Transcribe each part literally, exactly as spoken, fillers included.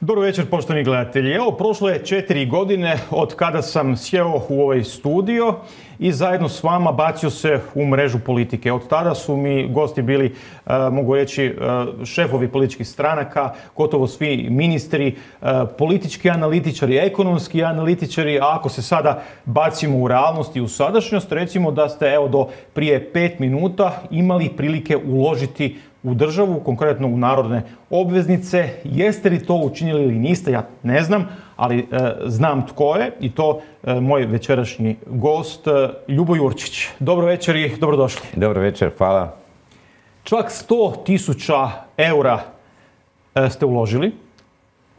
Dobro večer, poštovani gledatelji. Evo, prošlo je četiri godine od kada sam sjeo u ovaj studio i zajedno s vama bacio se u mrežu politike. Od tada su mi gosti bili, mogu reći, šefovi političkih stranaka, gotovo svi ministri, politički analitičari, ekonomski analitičari, a ako se sada bacimo u realnost i u sadašnjost, recimo da ste evo do prije pet minuta imali prilike uložiti u državu, konkretno u narodne obveznice. Jeste li to učinili ili niste, ja ne znam, ali e, znam tko je i to e, moj večerašnji gost, e, Ljubo Jurčić. Dobro večer i dobrodošli. Dobro večer, hvala. Čak sto tisuća eura e, ste uložili.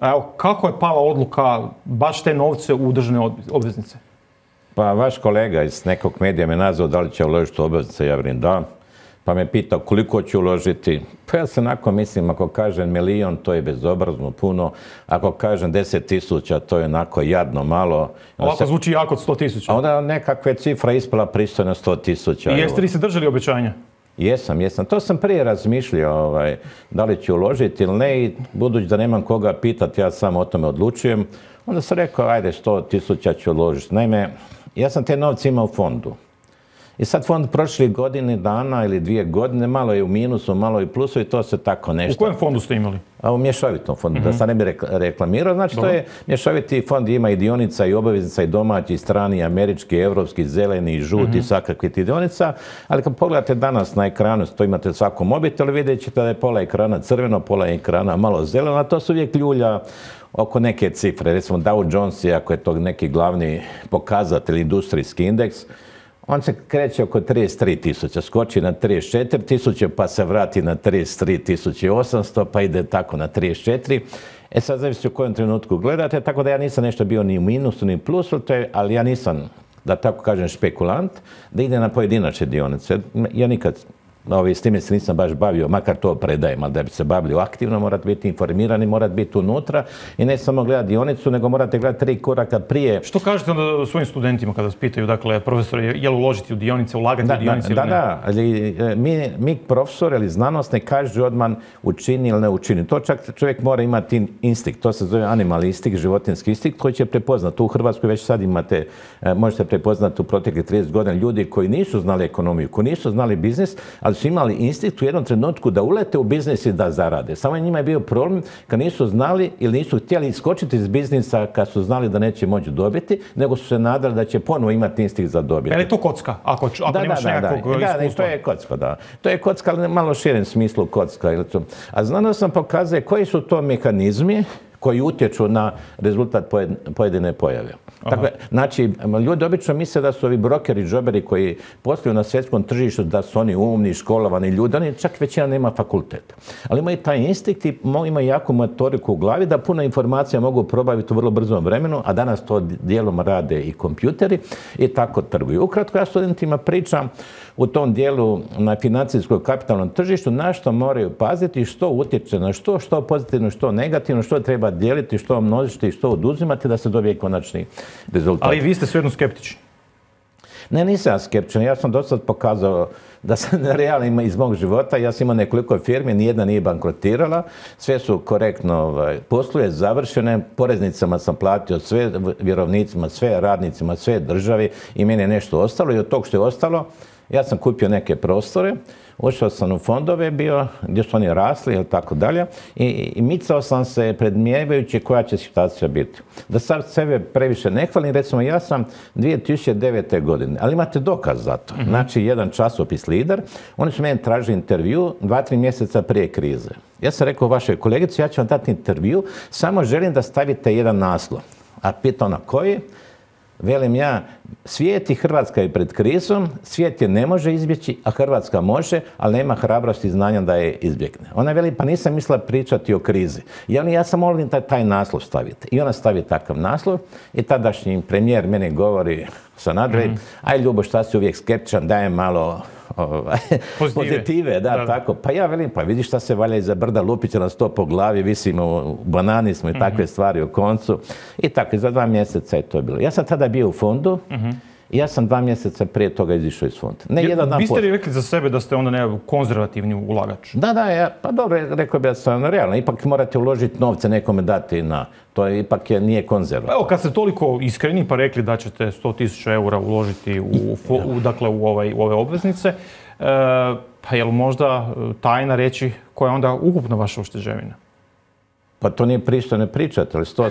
Evo, kako je pala odluka baš te novce u državne obveznice? Pa vaš kolega iz nekog medija me nazvao da li će uložiti u obveznice, ja velim da. Pa me pitao koliko ću uložiti. Pa ja se onako mislim, ako kažem milijon, to je bezobrazno puno. Ako kažem deset tisuća, to je onako jadno malo. Ovako zvuči jako od sto tisuća. A onda nekakve cifra ispala pristojno sto tisuća. I jeste li se držali obećanja? Jesam, jesam. To sam prije razmišljao, ovaj, da li ću uložiti ili ne. I budući da nemam koga pitati, ja sam o tome odlučujem. Onda sam rekao, ajde, sto tisuća ću uložiti. Naime, ja sam te novce imao u fondu. I sad fond prošlih godine dana ili dvije godine, malo je u minusu, malo je u plusu i to se tako nešto... U kojem fondu ste imali? A u mješovitom fondu, mm-hmm. da sad ne bi reklamirao. Znači, Dobro. To je mješoviti fond, ima i dionica i obaveznica i domaći, strani, američki, evropski, zeleni, žuti, mm-hmm. svakakvi ti dionica. Ali kad pogledate danas na ekranu, to imate svako mobitelu, vidjet ćete da je pola ekrana crveno, pola ekrana malo zeleno, a to su uvijek ljulja oko neke cifre. Recimo Dow Jones, ako je to neki glavni pokazatelj, industrijski indeks, on se kreće oko trideset tri tisuće, skoči na trideset četiri tisuće, pa se vrati na trideset tri tisuće osamsto, pa ide tako na trideset četiri. E sad zavisi u kojem trenutku gledate, tako da ja nisam nešto bio ni u minusu, ni u plusu, ali ja nisam, da tako kažem, špekulant, da ide na pojedinačne dionice. Ja nikad... Ovi, s time se nisam baš bavio, makar to predajem, ali da bi se bavili aktivno, morate biti informirani, morate biti unutra i ne samo gledati dionicu, nego morate gledati tri koraka prije. Što kažete onda svojim studentima kada vas pitaju, dakle, profesori, je li uložiti u dionice, ulagati da, u dionice da, ili ne? ne? Da, ali mi, mi profesor ili znanost ne kaže odmah učini ili ne učini. To čak čovjek mora imati instinkt, to se zove animal instinkt, životinski instinkt koji će prepoznati. U Hrvatskoj već sad imate, možete prepoznati u proteklih trideset godina ljudi koji nisu znali ekonomiju, koji nisu znali biznis, ali su imali instinkt u jednom trenutku da ulete u biznis i da zarade. Samo njima je bio problem kad nisu znali ili nisu htjeli iskočiti iz biznisa kad su znali da neće moći dobiti, nego su se nadali da će ponovo imati instinkt za dobiti. Je li to kocka? Ako, ako da, nemaš da, nekakvog da, iskustva? Da, to je kocka, da. To je kocka, ali malo širem smislu kocka. A znanost nam pokazuje koji su to mehanizmi koji utječu na rezultat pojedine pojave. Dakle, znači, ljudi obično misle da su ovi brokeri, džoberi koji posluju na svjetskom tržištu, da su oni umni, školovani ljudi, oni čak većina nema fakultet. Ali imaju taj instinkt i imaju jaku motoriku u glavi da puno informacija mogu probaviti u vrlo brzom vremenu, a danas to dijelom rade i kompjuteri i tako trguju. Ukratko, ja studentima pričam u tom dijelu na financijskom kapitalnom tržištu na što moraju paziti, što utječe na što, što pozitivno, što negativno, što treba dijeliti, što množiti i što oduzimati da se dobije konačni rezultat. Ali vi ste svejedno skeptični. Ne, nisam skeptičan. Ja sam do sad pokazao da sam realno iz mog života. Ja sam imao nekoliko firmi, nijedna nije bankrotirala. Sve su korektno ovaj, posluje, završene. Poreznicama sam platio sve, vjerovnicima, sve radnicima, sve državi i meni je nešto ostalo. I od tog što je ostalo, ja sam kupio neke prostore, ušao sam u fondove bio, gdje su oni rasli ili tako dalje i, i micao sam se predmjevajući koja će situacija biti. Da sad sebe previše ne hvalim, recimo ja sam dvije tisuće devete. godine, ali imate dokaz za to. Mm-hmm. Znači, jedan časopis Lider, oni su meni tražili intervju dva, tri mjeseca prije krize. Ja sam rekao vašoj kolegici, ja ću vam dati intervju, samo želim da stavite jedan naslov. A pita ona koji? Velim ja, svijet i Hrvatska je pred krizom, svijet je ne može izbjeći, a Hrvatska može, ali nema hrabrosti i znanja da je izbjegne. Ona veli, pa nisam mislila pričati o krizi. I ja sam molim da taj naslov stavite. I ona stavi takav naslov i tadašnji premijer meni govori sa nadrej, mm-hmm. aj Ljubo, šta si uvijek skeptičan, daje malo ovaj, pozitive. pozitive, da, da, tako. Pa ja velim, pa vidiš šta se valja iza brda, lupiće nas to po glavi, visimo u banani smo i takve mm-hmm. stvari u koncu. I tako, za dva mjeseca je to bilo. Ja sam tada bio u fondu mm-hmm. i ja sam dva mjeseca prije toga izišao iz fonda. Ne jedan dan biste li rekli za sebe da ste onda nekako konzervativni ulagač? Da, da, ja, pa dobro, rekao bi da sam realno. Ipak morate uložiti novce nekome dati na... To je, ipak je, nije konzervativno. Evo, kad ste toliko iskreni pa rekli da ćete sto tisuća eura uložiti u, u, dakle, u, ovaj, u ove obveznice, e, pa je li možda tajna reći koja je onda ukupna vaša ušteđevina? Pa to nije pristojno pričati, ali sto,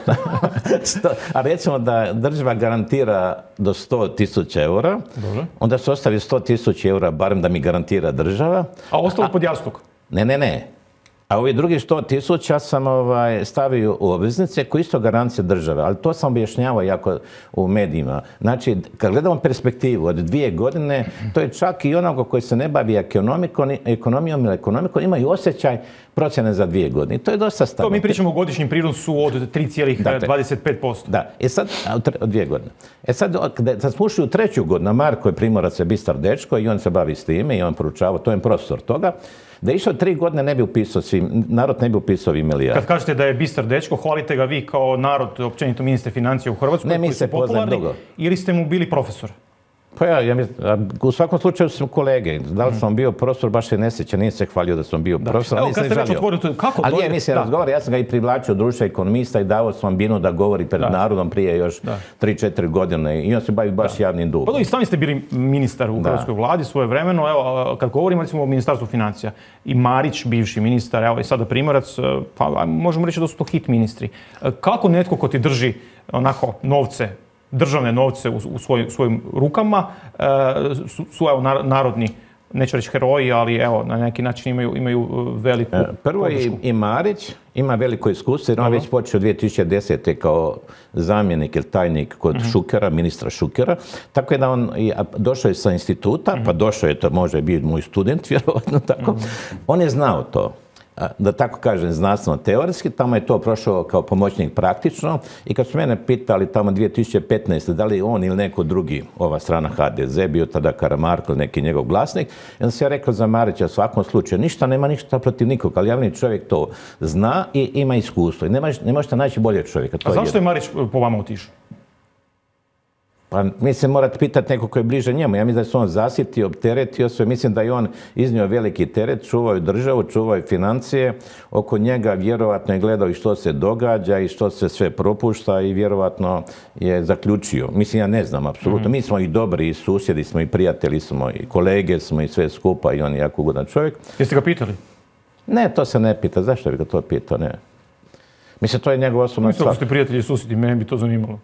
sto, a recimo da država garantira do sto tisuća eura, Dobre. Onda se ostavi sto tisuća eura, barem da mi garantira država. A ostalo pod jastuk? Ne, ne, ne. A ovi drugi sto tisuća sam ovaj, stavio u obveznice koji isto garancija države, ali to sam objašnjavao jako u medijima. Znači, kad gledamo perspektivu od dvije godine, to je čak i onoga koji se ne bavi ekonomijom, ekonomijom ili ekonomikom, imaju osjećaj procjene za dvije godine. To je dosta stabilno. To mi pričamo o godišnjem prinosu od tri zarez dvadeset pet posto. Da, e sad, od dvije godine. E sad, kad smo ušli u treću godinu, Marko je Primorac je bistar dečko i on se bavi s time i on poručava, to je profesor toga, da je išao tri godine ne bi upisao svi, narod ne bi upisao ovi milijardi. Kad kažete da je bistar dečko, hvalite ga vi kao narod, općenito ministre financija u Hrvatskoj, ne, mi se poznajemo dugo. Ili ste mu bili profesor? Pa ja, ja mislim, u svakom slučaju smo kolege. Da li sam bio profesor, baš se ne sjeća, nije se hvalio da sam bio da. profesor. Evo, kad ste već otvorili, kako ali je, mislim, razgovara, ja sam ga i privlačio društva ekonomista i davao sam binu da govori pred da. narodom prije još tri četiri godine i on se bavi baš da. javnim dugom. Pa i sami ste bili ministar u Hrvatskoj vladi svoje vremeno, evo, kad govorimo recimo o Ministarstvu financija, i Marić, bivši ministar, evo i sada Primorac, pa možemo reći da su to hit ministri. Kako netko ko ti drži onako novce, državne novce u, u svoj, svojim rukama, e, su, su evo, narodni, neću reći heroji, ali evo, na neki način imaju, imaju veliku e, Prvo podršku. i, i Marić ima veliko iskustvo, jer on već počeo dvije tisuće desete. kao zamjenik ili tajnik kod uh-huh. Šukera, ministra Šukera, tako je da on došao je sa instituta, uh-huh. pa došao je, to može biti moj student, vjerovatno tako, uh-huh. on je znao to. Da tako kažem, znanstveno-teoretski, tamo je to prošao kao pomoćnik praktično i kad su mene pitali tamo dvije tisuće petnaeste. da li on ili neko drugi, ova strana ha de ze, bio tada Karamarko, neki njegov glasnik, onda sam ja rekao za Marića u svakom slučaju, ništa, nema ništa protiv nikog, ali javni čovjek to zna i ima iskustvo i ne, maš, ne možete naći bolje čovjeka. A zašto je Marić po vama otišao? Pa mislim, morate pitati neko koji je bliže njemu. Ja mislim da se on zasitio, opteretio sve. Mislim da je on iznio veliki teret, čuvao državu, čuvao financije. Oko njega vjerovatno je gledao i što se događa i što se sve propušta i vjerovatno je zaključio. Mislim, ja ne znam, apsolutno. Mm-hmm. Mi smo i dobri, i susjedi smo, i prijatelji smo, i kolege smo, i sve skupa, i on je jako ugodan čovjek. Jeste ga pitali? Ne, to se ne pita. Zašto bi ga to pitao? Ne. Mislim, to je njegov osobna stvar. Mislim da ste prijatelji i susjedi, mene bi to zanimalo.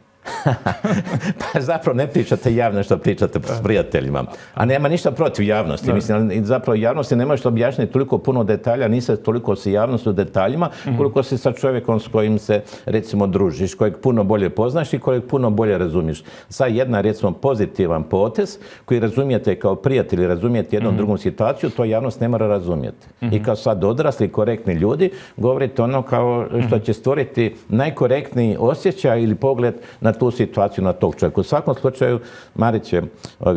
Pa zapravo ne pričate javno što pričate s prijateljima. A nema ništa protiv javnosti. Mislim, zapravo javnosti ne možete objašnjati toliko puno detalja, nisi toliko si javnost u detaljima, koliko si sa čovjekom s kojim se, recimo, družiš, kojeg puno bolje poznaš i kojeg puno bolje razumiješ. Sad jedna, recimo, pozitivan potez koji razumijete kao prijatelji, razumijete jednom mm-hmm. drugom situaciju, to javnost ne mora razumjeti. Mm-hmm. I kao sad odrasli, korektni ljudi, govorite ono kao što će stvoriti najkorektniji osjećaj ili pogled na tu situaciju, na tog čovjeka. U svakom slučaju, Marić je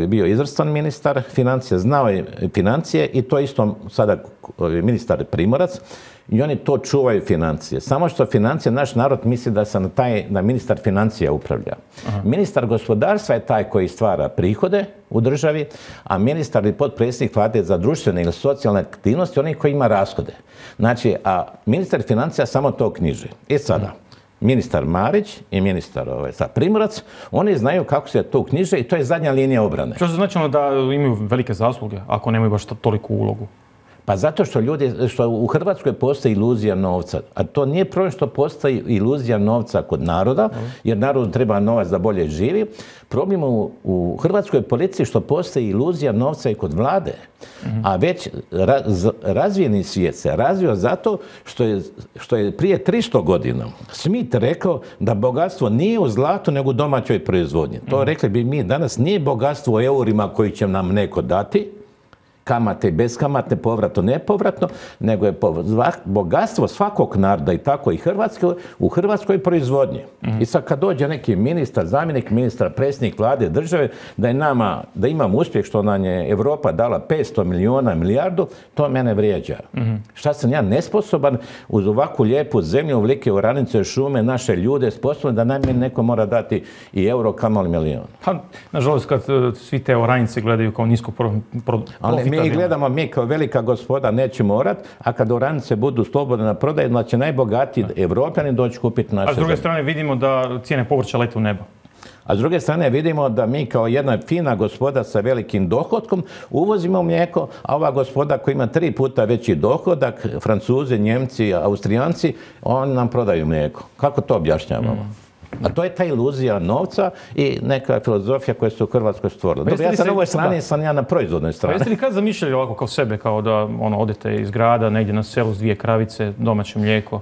bio izvrstan ministar financija, znao je financije i to isto sada ministar Primorac i oni to čuvaju financije. Samo što financije, naš narod misli da se na taj, na ministar financija upravlja. Aha. Ministar gospodarstva je taj koji stvara prihode u državi, a ministar ili potpredsjednik vlade za društvene ili socijalne aktivnosti, oni koji ima rashode. Znači, a ministar financija samo to knjiži. I sada, Aha. ministar Marić i ministar ovaj, Primorac, oni znaju kako se to knjiže i to je zadnja linija obrane. Što se značilo da imaju velike zasluge, ako nemaju baš toliku ulogu? Pa zato što ljudi, što u Hrvatskoj postoji iluzija novca, a to nije problem što postoji iluzija novca kod naroda, jer narodu treba novac da bolje živi. Problem u, u hrvatskoj policiji što postoji iluzija novca i kod vlade, mm-hmm. a već raz, razvijeni svijet se razvio zato što je, što je prije tristo godina Smith rekao da bogatstvo nije u zlatu nego u domaćoj proizvodnji. To mm-hmm. rekli bi mi danas, nije bogatstvo u eurima koji će nam neko dati, kamate i beskamatne, povratno, nepovratno, nego je bogatstvo svakog naroda i tako i Hrvatske u hrvatskoj proizvodnji. Mm-hmm. I sad kad dođe neki ministar, zamjenik ministra, predsjednik vlade države, da je nama, da imamo uspjeh što nam je Europa dala petsto milijuna, milijardu, to mene vrijeđa. Mm-hmm. Šta sam ja nesposoban uz ovakvu lijepu zemlju, ovolike oranice, šume, naše ljude, sposobno da najmanje neko mora dati i euro, kamoli milijon. Pa, nažalost, kad uh, svi te oranice gledaju kao nisko pro, pro, ali mi gledamo, mi kao velika gospoda neće morat, a kad oranice budu slobodne na prodaju, da će najbogatiji Evropljani doći kupiti naše zemlje. A s druge strane vidimo da cijene povrća lete u nebo. A s druge strane vidimo da mi kao jedna fina gospoda sa velikim dohodkom uvozimo mlijeko, a ova gospoda koja ima tri puta veći dohodak, Francuzi, Njemci, Austrijanci, oni nam prodaju mlijeko. Kako to objašnjavamo? Mm. A to je ta iluzija novca i neka filozofija koja se u Hrvatskoj stvorila. Dobro, ja sam na ovoj strani, da. sam ja na proizvodnoj strani. Pa jeste li kad zamišljali ovako kao sebe, kao da ono, odete iz grada, negdje na selu s dvije kravice, domaće mlijeko,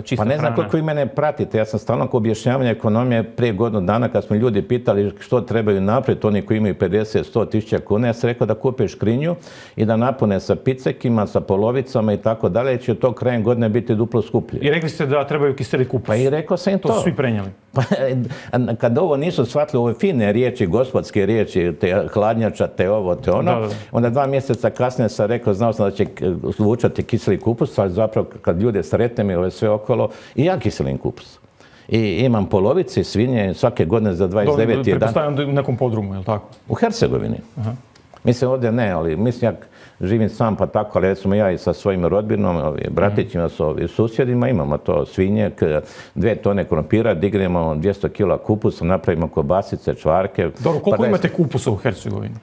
čista Pa ne znam hrana. koliko vi mene pratite. Ja sam stalno kod objašnjavanja ekonomije prije godinu dana kad smo ljudi pitali što trebaju napraviti, oni koji imaju pedeset do sto tisuća kuna, ja sam rekao da kupe škrinju i da napune sa picekima, sa polovicama i tako dalje, će to krajem godine biti duplo skuplje. I rekli ste da trebaju kiseliti kupus. Pa i rekao sam im to. To su svi prenijeli. Pa, kad ovo nisu shvatili, ove fine riječi, gospodske riječi, te hladnjača, te ovo, te ono, da, da. onda dva mjeseca kasnije sam rekao, znao sam da će zvučati kiseli kupus, ali zapravo kad ljude sretnem i ove sve okolo, i ja kiselim kupus. I imam polovice, svinje, svake godine za dvadeset devet dan. Pretpostavljam u nekom podrumu, je li tako? U Hercegovini. Aha. Mislim, ovdje ne, ali mislim, ja živim sam pa tako, ali recimo ja i sa svojim rodbinom, ovi, bratićima, s ovi, susjedima, imamo to svinje, dve tone krompira, dignemo dvjesto kila kupusa, napravimo kobasice, čvarke. Dobro, koliko pa imate kupusa u Hercegovini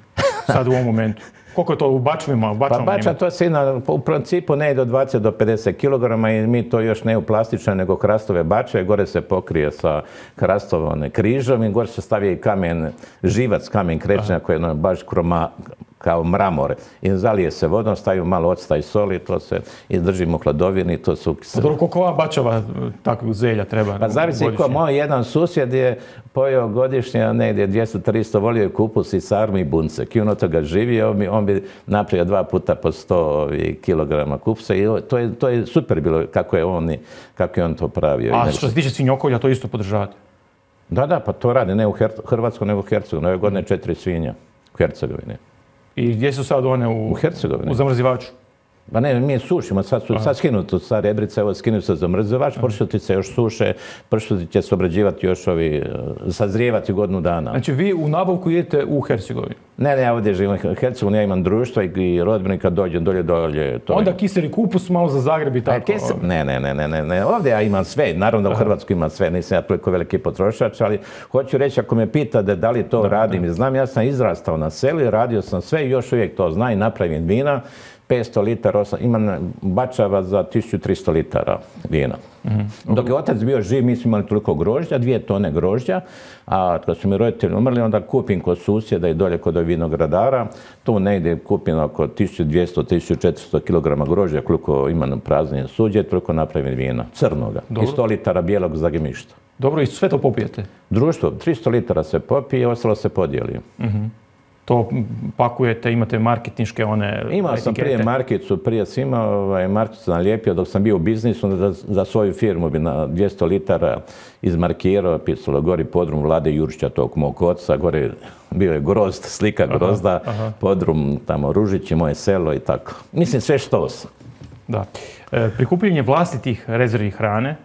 sad u ovom momentu? Koliko je to u bačvima? U pa bača to se na, u principu ne do dvadeset do pedeset kilograma i mi to još ne u plastične nego hrastove bače. Gore se pokrije sa hrastovom križom i gore se stavi i kamen, živac kamen krečnja koji je baš kroma, kao mramor. I zalije se vodom, stavimo malo octa i soli, to se i držimo u hladovini, to su... A dobro, koliko ova bačava takvog zelja treba? Pa zavisi ko, moj jedan susjed je pojeo godišnje negdje dvjesto tristo, volio je kupus i sarmu i buncek. I on od toga živio, on bi napravio dva puta po sto kilograma kupusa i to je, to je super bilo kako je on, kako je on to pravio. A što se tiče svinjokolja, to isto podržavate? Da, da, pa to radi, ne u Hrvatskoj, nego u Hercegovini. Ove godine četiri svinja u Hercegovini. I gdje su sad one u, u Hercegovini? U zamrzivaču? Pa ne, mi sušimo, sad su sad skinuti, sad rebrice, evo skinuti se zamrzivač, pršutice još suše, pršuti će se obrađivati još ovi, sazrijevati godinu dana. Znači vi u nabavku idete u Hercegovini? Ne, ne, ja ovdje živim u Hercegovini, ja imam društvo i rodbini kad dođem dolje, dolje. To onda je... kiseli kupus malo za Zagreb i tako? Kisel... Ne, ne, ne, ne, ne, ne, ovdje ja imam sve, naravno da u Hrvatskoj imam sve, nisam ja toliko veliki potrošač, ali hoću reći, ako me pitate da li to da, radim da. i znam, ja sam izrastao na selu, radio sam sve i još uvijek to znam i napravim vina. petsto litara, imam bačava za tisuću tristo litara vina. Mm-hmm. Dok je otac bio živ, mi smo imali toliko grožđa, dvije tone grožđa, a kad su mi roditelji umrli, onda kupim kod susjeda i dolje kod vinogradara, tu negdje kupim oko tisuću dvjesto do tisuću četiristo kilograma grožđa, koliko imam praznije suđe, toliko napravim vina, crnoga. Dobro. I sto litara bijelog za gemišta. Dobro, i sve to popijete? Društvo, tristo litara se popije, ostalo se podijeli. Mm-hmm. To pakujete, imate marketinške one etikete? Imao sam prije markicu, prije sam imao ovaj, markicu nalijepio dok sam bio u biznisu, onda za, za svoju firmu bi na dvjesto litara izmarkirao, pisalo gori podrum Vlade Jurića, tog mog oca, gore bio je grozd, slika grozda, aha, aha. podrum tamo Ružići, moje selo i tako. Mislim sve što sam. Da. E, prikupljanje vlastitih rezervi hrane,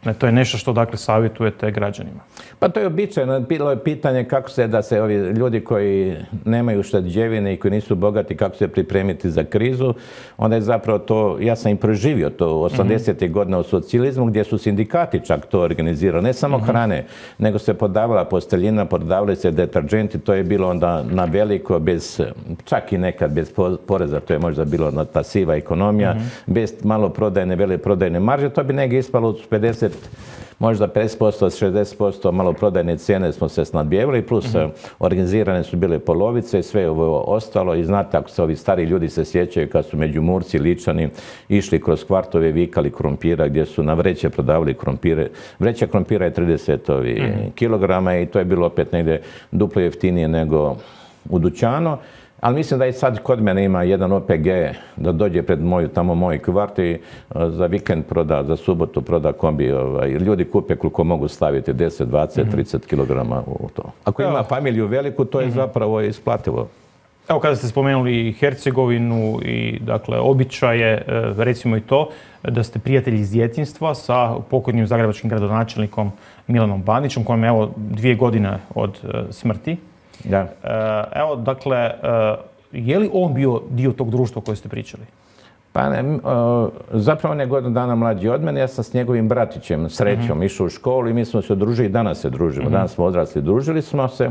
ne, to je nešto što dakle savjetujete građanima? Pa to je običajno. Bilo je pitanje kako se da se ovi ljudi koji nemaju štađevine i koji nisu bogati, kako se pripremiti za krizu. Onda je zapravo to, ja sam i proživio to u osamdesetih godina u socijalizmu gdje su sindikati čak to organizirali. Ne samo mm-hmm. hrane, nego se podavala posteljina, podavali se deterđenti. To je bilo onda na veliko, bez, čak i nekad bez poreza, to je možda bilo na ta siva ekonomija, mm-hmm. bez malo prodajne, vele prodajne marže. To bi negdje ispalo od pedeset možda pedeset posto, šezdeset posto maloprodajne cijene smo se snadbijevali, plus mm-hmm. organizirane su bile polovice i sve ovo ostalo. I znate, ako se ovi stari ljudi se sjećaju kad su Međumurci, Ličani išli kroz kvartove, vikali krompira gdje su na vreće prodavali krompire. Vreća krompira je trideset mm-hmm. kilograma i to je bilo opet negdje duplo jeftinije nego u dućanu. Ali mislim da i sad kod mene ima jedan O P G da dođe pred moju, tamo moj kvart i za vikend proda, za subotu proda kombi. Ovaj, ljudi kupe koliko mogu staviti, deset, dvadeset, trideset kilograma u to. Ako ima familiju veliku, to je zapravo isplativo. Evo, kada ste spomenuli Hercegovinu i, dakle, običaje, recimo i to, da ste prijatelji iz djetinjstva sa pokojnim zagrebačkim gradonačelnikom Milanom Bandićem, kojem je, evo, dvije godine od smrti. Da. Evo, dakle, je li on bio dio tog društva koje ste pričali? Pa ne, zapravo on je godinu dana mlađi od mene, ja sam s njegovim bratićem, Srećom, išao u školu i mi smo se odružili i danas se družimo. Danas smo odrasli, družili smo se.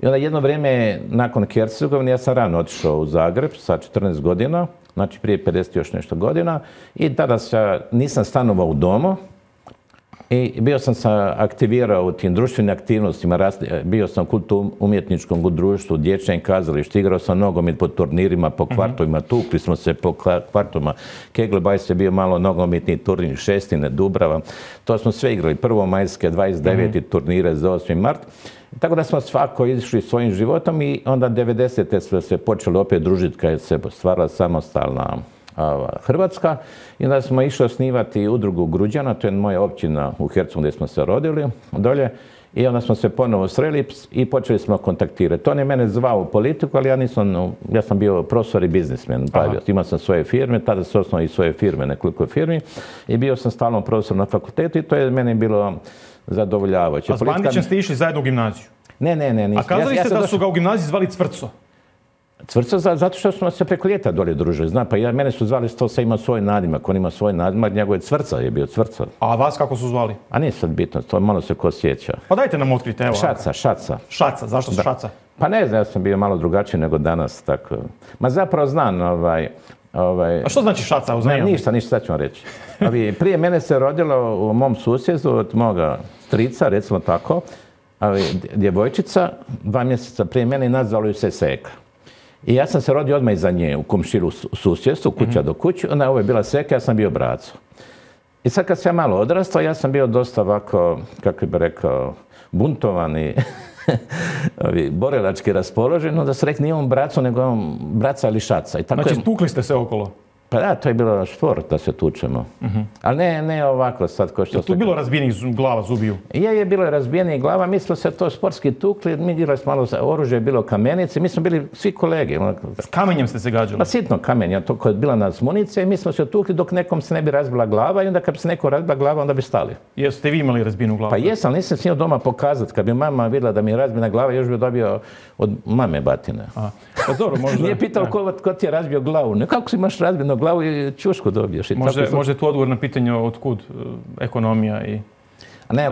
I onda jedno vrijeme, nakon Hercegovine, ja sam rano otišao u Zagreb sa četrnaest godina, znači prije pedeset još nešto godina, i tada ja nisam stanovao u domu i bio sam se aktivirao u tim društvenim aktivnostima, bio sam u kulturno-umjetničkom društvu, dječjem kazalištu, igrao sam nogomet po turnirima, po kvartovima, tukli smo se po kvartovima, Keglebajs je bio malo nogometni turnir, Šestine, Dubrava, to smo sve igrali, prvomajske, dvadeset devete turnire za osmi mart. Tako da smo svako išli svojim životom i onda devedesete smo se počeli opet družiti kad se stvarala samostalna Hrvatska. I onda smo išli osnivati udrugu Gruđana, to je moja općina u Hercegovini gdje smo se rodili dolje. I onda smo se ponovo sreli i počeli smo kontaktirati. On je mene zvao u politiku, ali ja nisam, ja sam bio profesor i biznismen. Imao sam svoje firme, tada sam osnovao i svoje firme, nekoliko firmi. I bio sam stalno profesor na fakultetu i to je meni bilo zadovoljavajuće. A s Bandićem ste išli zajedno u gimnaziju? Ne, ne, ne. A kazali ste da su ga u gimnaziji zvali Cvrco? Cvrco, zato što smo se preko ljeta dolje družili. Znam, pa ja, mene su zvali, to se ima svoj nadimak, on ima svoj nadimak, njegov je Cvrca, je bio Cvrca. A vas kako su zvali? A nije sad bitno, to malo se ko sjeća. Pa dajte nam otkriti, evo. Šaca, Šaca. Šaca, zašto su Šaca? Pa ne znam, ja sam bio malo drugačiji nego danas, tako. Ma zapravo znam, ovaj... Ovaj, a što znači Šaca? Ne, ništa, ništa, sad ću vam reći. Ovi, prije mene se rodilo u mom susjedstvu od moga strica, recimo tako, ovi, djevojčica, dva mjeseca prije mene i nazvalo ju se Seka. I ja sam se rodio odmah iza nje u komšilu susjedstvu, kuća mm-hmm. do kuće, onda ovo je bila Seka, ja sam bio braco. I sad kad sam ja malo odrastao, ja sam bio dosta ovako, kako bi rekao, buntovan i borilački raspoložen, onda se rekli nije on braco, nego on braca ili Šaca. I tako znači, je... tukli ste se okolo? Pa da, to je bilo šport da se tučemo. Uh-huh. Ali ne, ne ovako sad ko što... Je tu bilo razbijenih glava, zubiju? Je, je bilo razbijenih glava, mi smo se to sportski tukli, mi igrali smo malo oružje, bilo kamenice, mi smo bili svi kolege. S kamenjem ste se gađali? Pa sitno kamenja, to koja je bila nas municija i mi smo se tukli dok nekom se ne bi razbila glava i onda kad bi se neko razbila glava, onda bi stali. Jeste vi imali razbijenu glavu? Pa jesam, nisam smio doma pokazati. Kad bi mama vidjela da mi je razbijena glava, još bi dobio od mame batine. Aha. Pa dobro, možda... Nije pitao ko, ko ti je razbio glavu. Ne, kako si imaš razbijenu glavu i čušku dobiješ. I možda, tako... možda je tu odgovor na pitanje otkud ekonomija i... Ne,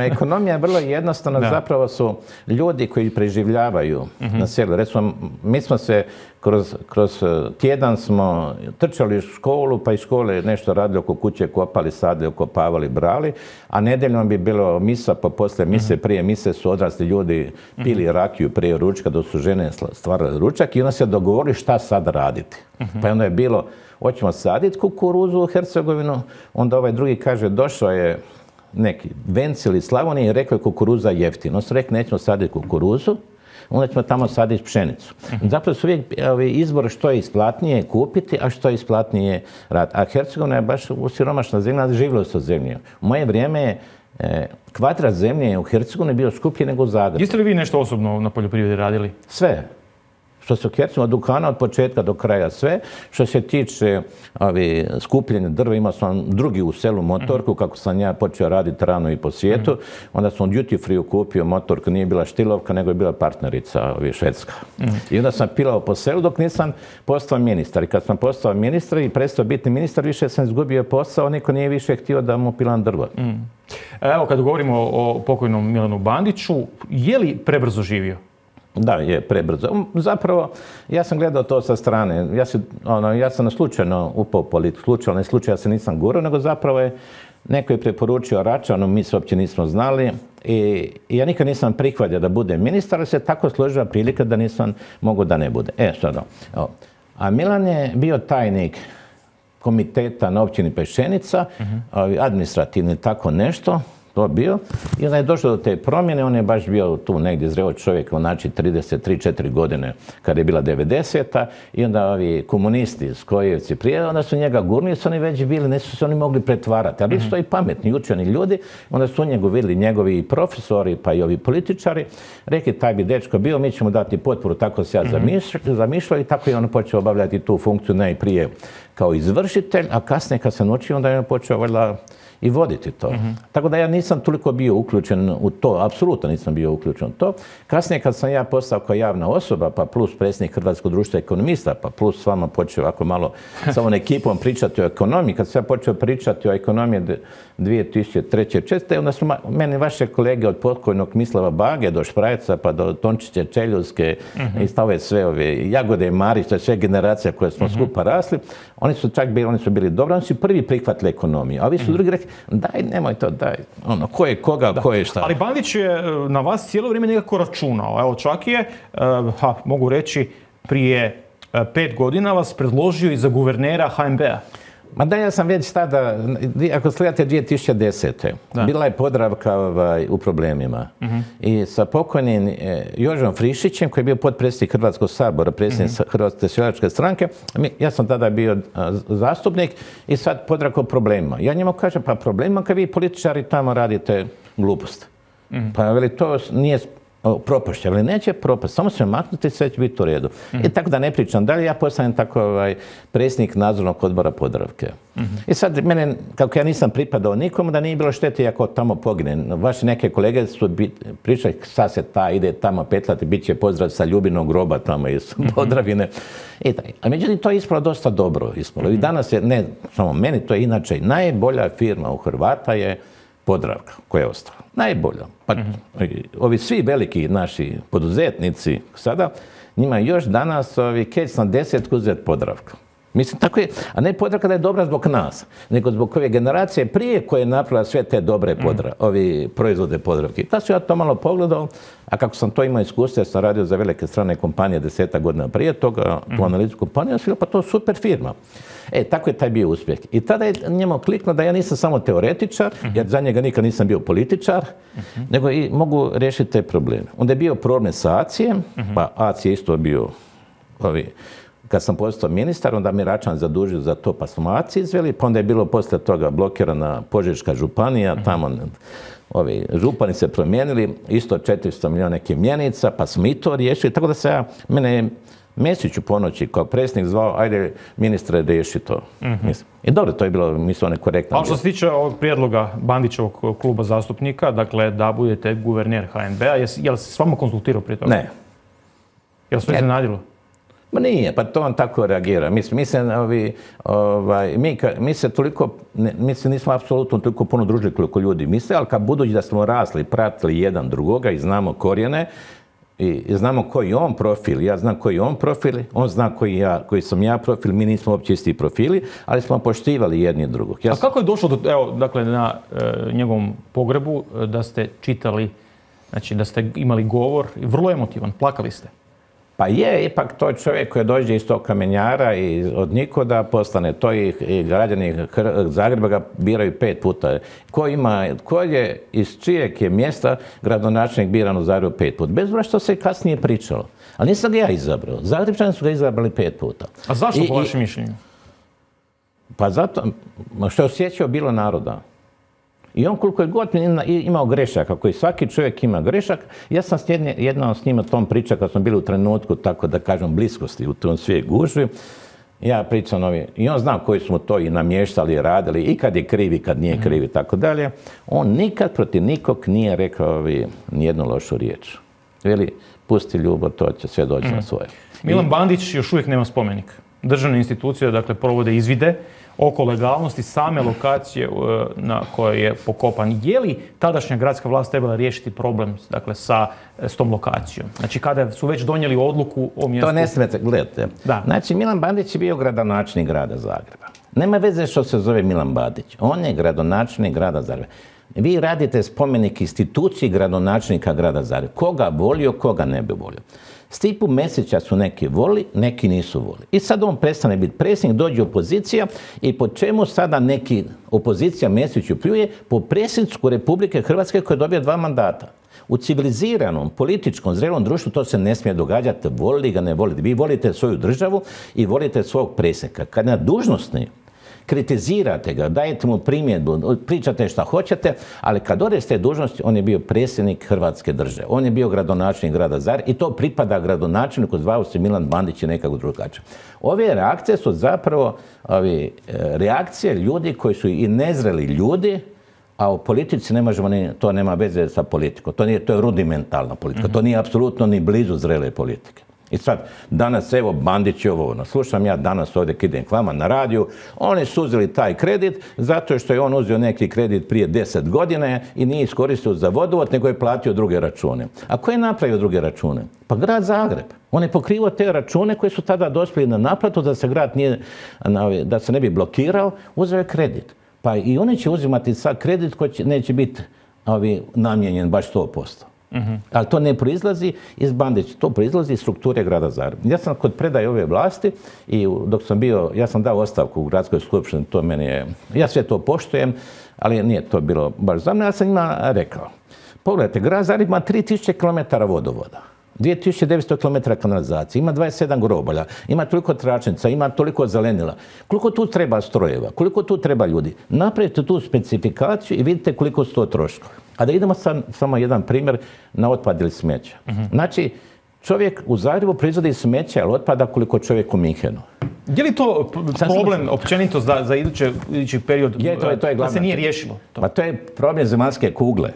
ekonomija je vrlo jednostavna. Da. Zapravo su ljudi koji preživljavaju uh-huh. na selu. Recimo, mi smo se kroz, kroz tjedan smo trčali u školu, pa iz škole nešto radili oko kuće, kopali, sadili, okopavali, brali, a nedeljom bi bilo misa, pa poslije mise, uh-huh. prije mise su odrasli ljudi pili uh-huh. rakiju prije ručka, dok su žene stvarali ručak i onda se dogovorili šta sad raditi. Uh-huh. Pa onda je bilo, hoćemo saditi kukuruzu u Hercegovinu, onda ovaj drugi kaže, došao je neki Venci ili Slavonije i rekao je kukuruza jeftino. On su rekli nećemo saditi kukuruzu, onda ćemo tamo saditi pšenicu. Uh-huh. Zapravo su uvijek izbor što je isplatnije kupiti, a što je isplatnije raditi. A Hercegovina je baš u siromašna zemlja, živjelo se od zemlje. U moje vrijeme je e, kvadrat zemlje u Hercegovini bio skuplji nego u Zagrebu. Jeste li vi nešto osobno na poljoprivredi radili? Sve. Što se Hercegovine od Dukana od početka do kraja sve. Što se tiče ovi, skupljenja drva, imao sam drugi u selu motorku, mm-hmm. kako sam ja počeo raditi rano i po svijetu. Mm-hmm. Onda sam duty free kupio motorku, nije bila Štilovka, nego je bila partnerica ovi, Švedska. Mm-hmm. I onda sam pilao po selu dok nisam postao ministar. I kad sam postao ministar i prestao biti ministar, više sam izgubio posao, niko nije više htio da mu pilam drva. Mm. Evo, kad govorimo o pokojnom Milanu Bandiću, je li prebrzo živio? Da, je prebrzo. Zapravo, ja sam gledao to sa strane. Ja, si, ono, ja sam slučajno upao u politiku. Slučajno, ne slučajno, ja se nisam gurao, nego zapravo je neko je preporučio Račanu, mi se uopće nismo znali. I, i ja nikad nisam prihvatio da budem ministar, ali se tako složila prilika da nisam mogu da ne bude. E, sad, a Milan je bio tajnik komiteta na općini Peščenica, uh-huh. administrativni tako nešto. to bio. I onda je došlo do te promjene, on je baš bio tu negdje zreo čovjek, znači trideset tri četiri godine kada je bila devedeseta i onda ovi komunisti, Skojevci prije, onda su njega gurnili, su oni već bili, nisu se oni mogli pretvarati, ali su to i pametni, učeni ljudi, onda su njega vidjeli njegovi profesori pa i ovi političari, rekli taj bi dečko bio, mi ćemo dati potporu, tako se ja zamišljao i tako je on počeo obavljati tu funkciju najprije kao izvršitelj, a kasnije kad se naučio, onda je on počeo valjda i voditi to. Mm-hmm. Tako da ja nisam toliko bio uključen u to, apsolutno nisam bio uključen u to. Kasnije kad sam ja postao kao javna osoba, pa plus predsjednik Hrvatskog društva ekonomista, pa plus s vama počeo ovako malo sa ovom ekipom pričati o ekonomiji, kad sam ja počeo pričati o ekonomiji dvije tisuće treće četvrte onda su meni vaše kolege od pokojnog Mislava Bage do Šprajca, pa do Tončiće Čeljuske, mm-hmm. i stave sve ove Jagode, Marić, to je sve generacija koje smo mm-hmm. skupa rasli, oni su čak bili, oni su bili dobri, oni su prvi prihvatili ekonomiju, a ovi su mm-hmm. drugi rekli, daj, nemoj to, daj, ono, ko je koga, da. Ko je šta. Ali Bandić je na vas cijelo vrijeme nekako računao, evo čak je, ha, mogu reći, prije pet godina vas predložio i za guvernera H N B-a. Ma da, ja sam već tada, ako sledate dvije tisuće desete. Da. Bila je Podravka ovaj, u problemima. Uh-huh. I sa pokojnim eh, Jožom Frišićem, koji je bio potpredsjednik Hrvatskog sabora, predsjednik uh-huh. Hrvatske seljačke stranke, ja sam tada bio a, zastupnik i sad Podravka u problemima. Ja njemu kažem, pa problemima kad vi političari tamo radite glupost. Uh-huh. Pa veli, to nije propašće, ali neće propast, samo se maknuti, sve će biti u redu. Mm-hmm. I tako da ne pričam dalje, ja postanem tako ovaj, predsjednik nadzornog odbora Podravke. Mm-hmm. I sad mene, kako ja nisam pripadao nikomu, da nije bilo štete ako tamo poginem. Vaši neke kolege su pričali, sad se ta ide tamo petlati, bit će pozdrav sa Ljubinog groba tamo iz mm-hmm. Podravine. I taj. A međutim, to je ispalo dosta dobro. Ispalo. Mm-hmm. I danas je, ne samo meni, to je inače najbolja firma u Hrvata je Podravka, koja je ostala. Najbolja. Pa, mm-hmm. ovi svi veliki naši poduzetnici sada, njima još danas ovi kec na desetku uzeti Podravka. Mislim, tako je, a ne Podravka da je dobra zbog nas, nego zbog ove generacije prije koje je napravila sve te dobre podra, mm. ovi proizvode Podravke. Ta su ja to malo pogledao, a kako sam to imao iskustvo, ja sam radio za velike strane kompanije deseta godina prije toga, mm. tu analizu kompaniju, sam pa to je super firma. E, tako je taj bio uspjeh. I tada je njemu kliknuo da ja nisam samo teoretičar, mm-hmm. jer za njega nikad nisam bio političar, mm-hmm. nego i mogu riješiti te probleme. Onda je bio problem sa A C I-em, mm-hmm. pa A C I je isto bio, ovi, kad sam postao ministar, onda mi Račan zadužio za to, pa smo A C I izveli, pa onda je bilo poslije toga blokirana Požeška županija, mm-hmm. tamo ovi župani se promijenili, isto četiristo milijuna nekih mjenica, pa smo i to riješili, tako da se ja, mene Mesić u ponoći kao predsjednik zvao, ajde ministre riješi to. Mm-hmm. I dobro, to je bilo, mislim, one korektno. Ali što se tiče ovog prijedloga Bandićevog kluba zastupnika, dakle da budete guverner H N B-a, je li se s vama konsultirao prije toga? Ne. Je li se iznenadilo? Ma nije, pa to on tako reagira. Mi, mi se, ovi, ovaj, mi, mi se toliko, ne, mi se nismo apsolutno toliko puno družili koliko ljudi misle, ali kad budući da smo rasli, pratili jedan drugoga i znamo korijene, i znamo koji je on profil, ja znam koji je on profil, on zna koji, ja, koji sam ja profil, mi nismo uopće isti profili, ali smo poštivali jedni drugog. Ja A kako je došlo do, evo, dakle, na e, njegovom pogrebu da ste čitali, znači da ste imali govor, vrlo emotivan, plakali ste? Pa je, ipak to čovjek koji dođe iz tog kamenjara i od nikoda postane to i, i građani Zagreba ga biraju pet puta. Ko ima, ko je, iz čijeg je mjesta gradonačelnik biran u Zagrebu pet puta? Bez obzira što se kasnije pričalo. Ali nisam ga ja izabrao. Zagrebčani su ga izabrali pet puta. A zašto I, po vašem mišljenju? Pa zato što je osjećao bilo naroda. I on koliko je god imao grešaka, koji svaki čovjek ima grešak, ja sam jednom s njima tom pričao kad smo bili u trenutku, tako da kažem, bliskosti u tom svije gužvi. Ja pričam ovi, i on zna koji smo to i namještali, radili, i kad je kriv, i kad nije kriv, i tako dalje. On nikad protiv nikog nije rekao ovi, nijednu lošu riječ. Veli, pusti ljubav, to će sve doći mm. na svoje. Milan Bandić još uvijek nema spomenik. Državne institucije, dakle, provode izvide oko legalnosti same lokacije na kojoj je pokopan. Je li tadašnja gradska vlast trebala riješiti problem, dakle, sa, s tom lokacijom? Znači, kada su već donijeli odluku o mjestu... To ne smijete, gledajte. Da. Znači, Milan Bandić je bio gradonačelnik grada Zagreba. Nema veze što se zove Milan Bandić. On je gradonačelnik grada Zagreba. Vi radite spomenik instituciji gradonačelnika grada Zagreba. Koga volio, koga ne bi volio. Stipu Mesića su neki voli, neki nisu voli. I sad on prestane biti predsjednik, dođe opozicija i po čemu sada neki opozicija Mesiću pljuje? Po predsjedniku Republike Hrvatske koja dobija dva mandata. U civiliziranom, političkom, zrelom društvu to se ne smije događati. Volili ga, ne volite. Vi volite svoju državu i volite svog predsjednika. Kad na dužnosni kritizirate ga, dajete mu primjedbu, pričate šta hoćete, ali kad ode s te dužnosti, on je bio predsjednik Hrvatske države. On je bio gradonačelnik grada Zagreba i to pripada gradonačelniku, zvao se Milan Bandić i nekako drugačije. Ove reakcije su zapravo ovi, reakcije ljudi koji su i nezreli ljudi, a u politici ne možemo, ni, to nema veze sa politikom. To, nije, to je rudimentalna politika. To nije apsolutno ni blizu zrele politike. I sad, danas, evo, Bandić je ovo, slušam ja danas ovdje kad idem k vama na radiju, oni su uzeli taj kredit zato što je on uzeo neki kredit prije deset godine i nije iskoristio za vodovod, nego je platio druge račune. A ko je napravio druge račune? Pa grad Zagreb. On je pokrivao te račune koji su tada dospjeli na naplatu da se grad nije, da se ne bi blokirao, uzeo je kredit. Pa i oni će uzimati sad kredit koji će, neće biti ovi, namijenjen baš sto posto. Uh-huh. Ali to ne proizlazi iz Bandića, to proizlazi iz strukture grada Zagreba. Ja sam kod predaje ove vlasti i dok sam bio, ja sam dao ostavku u gradskoj skupštini, to meni je, ja sve to poštujem, ali nije to bilo baš za mene, ja sam njima rekao. Pogledajte, grad Zagreb ima tri tisuće kilometara vodovoda. dvije tisuće devetsto kilometara kanalizacije, ima dvadeset sedam grobalja, ima toliko tračnica, ima toliko zelenila. Koliko tu treba strojeva, koliko tu treba ljudi? Napravite tu specifikaciju i vidite koliko su to troškovi. A da idemo sam, samo jedan primjer na otpad ili smeća. Uh-huh. Znači, čovjek u Zagrebu proizvodi smeća ili otpada koliko čovjek u Minhenu. Je li to problem općenito za, za idući, idući period je, to je, to je da se nije riješilo? To. Pa to je problem zemaljske kugle.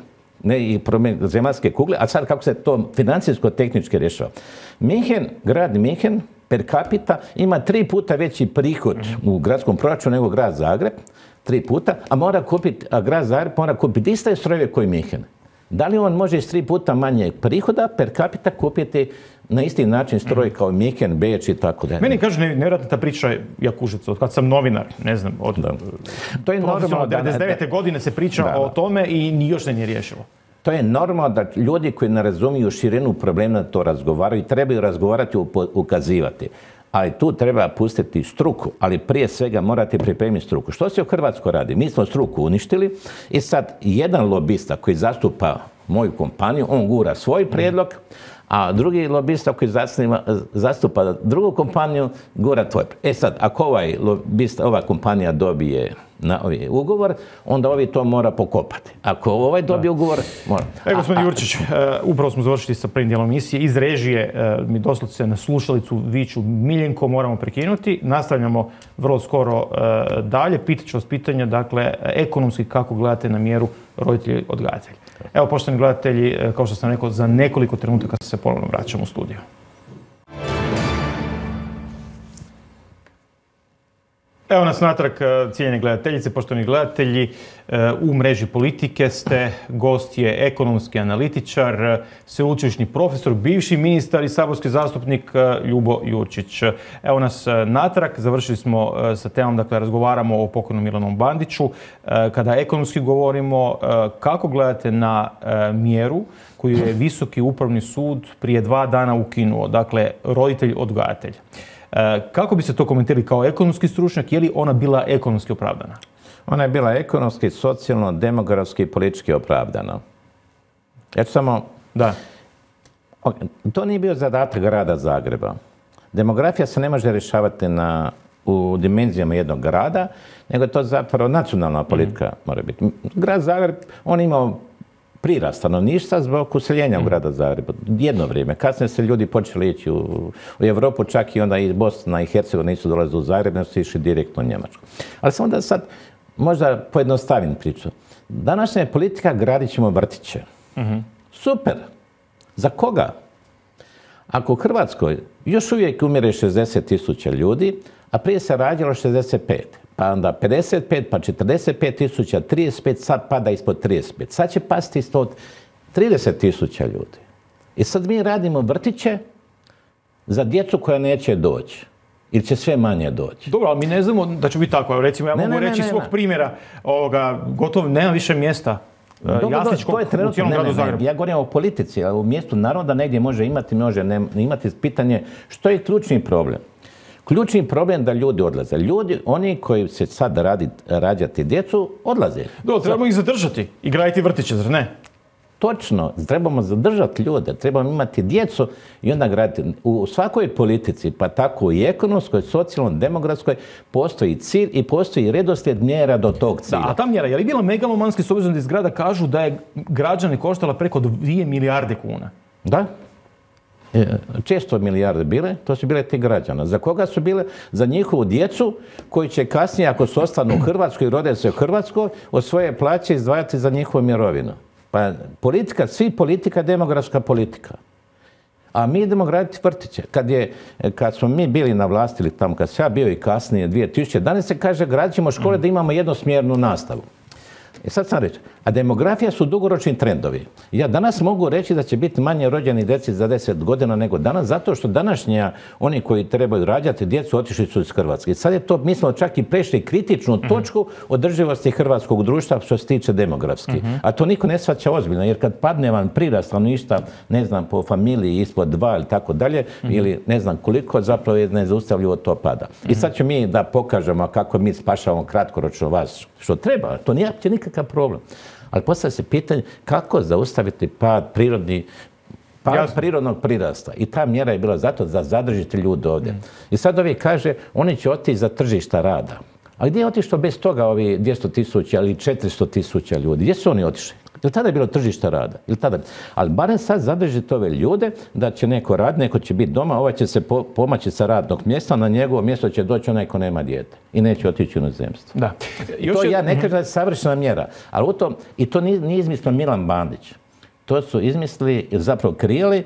Ne i problem zemaljske kugle, a sad kako se to financijsko-tehnički rješava. Minhen, grad Minhen per capita ima tri puta veći prihod u gradskom proračunu nego grad Zagreb, tri puta, a mora kupiti, a grad Zagreb mora kupiti iste strojeve koji Minhen. Da li on može iz tri puta manje prihoda per capita kupiti na isti način stroj kao Minhen, Beč i tako dalje? Meni kaže nevjerojatna ta priča Jakuševca, od kad sam novinar, ne znam, od da. To je normalno, devedeset devete godine se priča da, da. o tome i još se nije riješilo. To je normalno da ljudi koji ne razumiju širinu problema to razgovaraju i trebaju razgovarati i ukazivati. Ali tu treba pustiti struku, ali prije svega morate pripremiti struku. Što se u Hrvatskoj radi? Mi smo struku uništili i sad jedan lobista koji zastupa moju kompaniju, on gura svoj prijedlog, a drugi lobista koji zastupa drugu kompaniju gura tvoj. E sad, ako ovaj lobista, ova kompanija dobije na ovaj ugovor, onda ovi to mora pokopati. Ako ovaj dobije ugovor, mora. E, gospodin Jurčić, uh, upravo smo završili sa prvim dijelom emisije. Iz režije uh, mi doslovce na slušalicu viču Miljenko, moramo prekinuti. Nastavljamo vrlo skoro uh, dalje. Pitat ću vas pitanja, dakle, ekonomski kako gledate na mjeru roditelji odgajatelji. Evo, poštovani gledatelji, kao što sam rekao, za nekoliko trenutaka se ponovno vraćamo u studiju. Evo nas natrag, cijenjene gledateljice, poštovani gledatelji. U mreži Politike ste, gost je ekonomski analitičar, sveučilišni profesor, bivši ministar i saborski zastupnik Ljubo Jurčić. Evo nas natrag, završili smo sa temom, dakle, razgovaramo o pokojnom Milanu Bandiću. Kada ekonomski govorimo, kako gledate na mjeru koju je Visoki upravni sud prije dva dana ukinuo, dakle, roditelj odgajatelj? Kako bi se to komentirali kao ekonomski stručnjak? Je li ona bila ekonomski opravdana? Ona je bila ekonomski, socijalno, demografski i politički opravdana. Ja ću samo... Da. To nije bio zadatak grada Zagreba. Demografija se ne može rješavati na, u dimenzijama jednog grada, nego je to zapravo nacionalna politika mm. mora biti. Grad Zagreb, on imao prirast stanovništva zbog useljenja u grada Zagreba. Jedno vrijeme. Kasnije se ljudi počeli ići u, u Europu, čak i onda i Bosna i Hercegovina nisu dolazili u Zagreb, nego su išli direktno u Njemačku. Ali sam onda sad možda pojednostavim priču. Današnja je politika, gradit ćemo vrtiće. Mm-hmm. Super. Za koga? Ako u Hrvatskoj još uvijek umire šezdeset tisuća ljudi, a prije se rađalo šezdeset pet. Pa onda pedeset pet, pa četrdeset pet tisuća, trideset pet, sad pada ispod trideset pet. Sad će pasti ispod trideset tisuća ljudi. I sad mi radimo vrtiće za djecu koja neće doći. Ili će sve manje doći. Dobro, ali mi ne znamo da će biti tako. Recimo, ja ne, mogu ne, reći ne, svog ne. primjera, ovoga, gotovo nema više mjesta uh, jasličkog u cijelom gradu Zagrebu. Ja govorim o politici, ali u mjestu naroda negdje može imati, može ne imati. Pitanje što je ključni problem. Ključni problem da ljudi odlaze. Ljudi, oni koji se sad radi, rađati djecu, odlaze. Do, trebamo ih zadržati i graditi vrtiće, zar ne? Točno, trebamo zadržati ljude, trebamo imati djecu i onda graditi. U svakoj politici, pa tako i ekonomskoj, socijalnoj, demografskoj, postoji cilj i postoji redoslijed mjera do tog cilja. Da, a ta mjera, je li bila megalomanski s obzirom da iz grada kažu da je građane koštala preko dvije milijarde kuna? Da. Često milijarde bile, to su bile ti građana. Za koga su bile? Za njihovu djecu koji će kasnije, ako se ostanu u Hrvatskoj i rode se u Hrvatskoj, od svoje plaće izdvajati za njihovu mirovinu. Pa politika, svi politika, demografska politika. A mi idemo graditi vrtiće. Kad, je, kad smo mi bili na vlasti, ili tamo kad sam ja bio i kasnije, dvije tisuće jedanaeste. se kaže gradit ćemo škole da imamo jednosmjernu nastavu. I sad sam reći, a demografija su dugoročni trendovi. Ja danas mogu reći da će biti manje rođeni djeci za deset godina nego danas, zato što današnja, oni koji trebaju rađati djecu, otišli su iz Hrvatske. I sad je to, mi smo čak i prešli kritičnu točku održivosti hrvatskog društva što se tiče demografski. A to niko ne shvaća ozbiljno, jer kad padne vam prirast stanovništva, ne znam, po familiji ispod dva ili tako dalje, ili ne znam koliko, zapravo je nezaustavljivo to pada. I sad ćemo mi da pokažemo kako mi spašavamo kratkoročno vas, što treba, to nije uopće nikakav problem. Ali postavlja se pitanje kako zaustaviti pad prirodni, pad Jasno. prirodnog prirasta. I ta mjera je bila zato da zadržite ljude ovdje. Mm. I sad ovi kaže, oni će otići za tržišta rada. A gdje je otišlo bez toga ovi dvjesto tisuća ili četiristo tisuća ljudi? Gdje su oni otišli? Ili tada je bilo tržište rada? Ili tada? Ali barem sad zadržite ove ljude da će neko raditi, neko će biti doma, ovaj će se po, pomaći sa radnog mjesta, na njegovo mjesto će doći onaj ko nema dijete i neće otići u inozemstvo. Da. To je, ja ne kažem da je savršena mjera, ali u tom, i to nije, nije izmislio Milan Bandić. To su izmislili, zapravo krijeli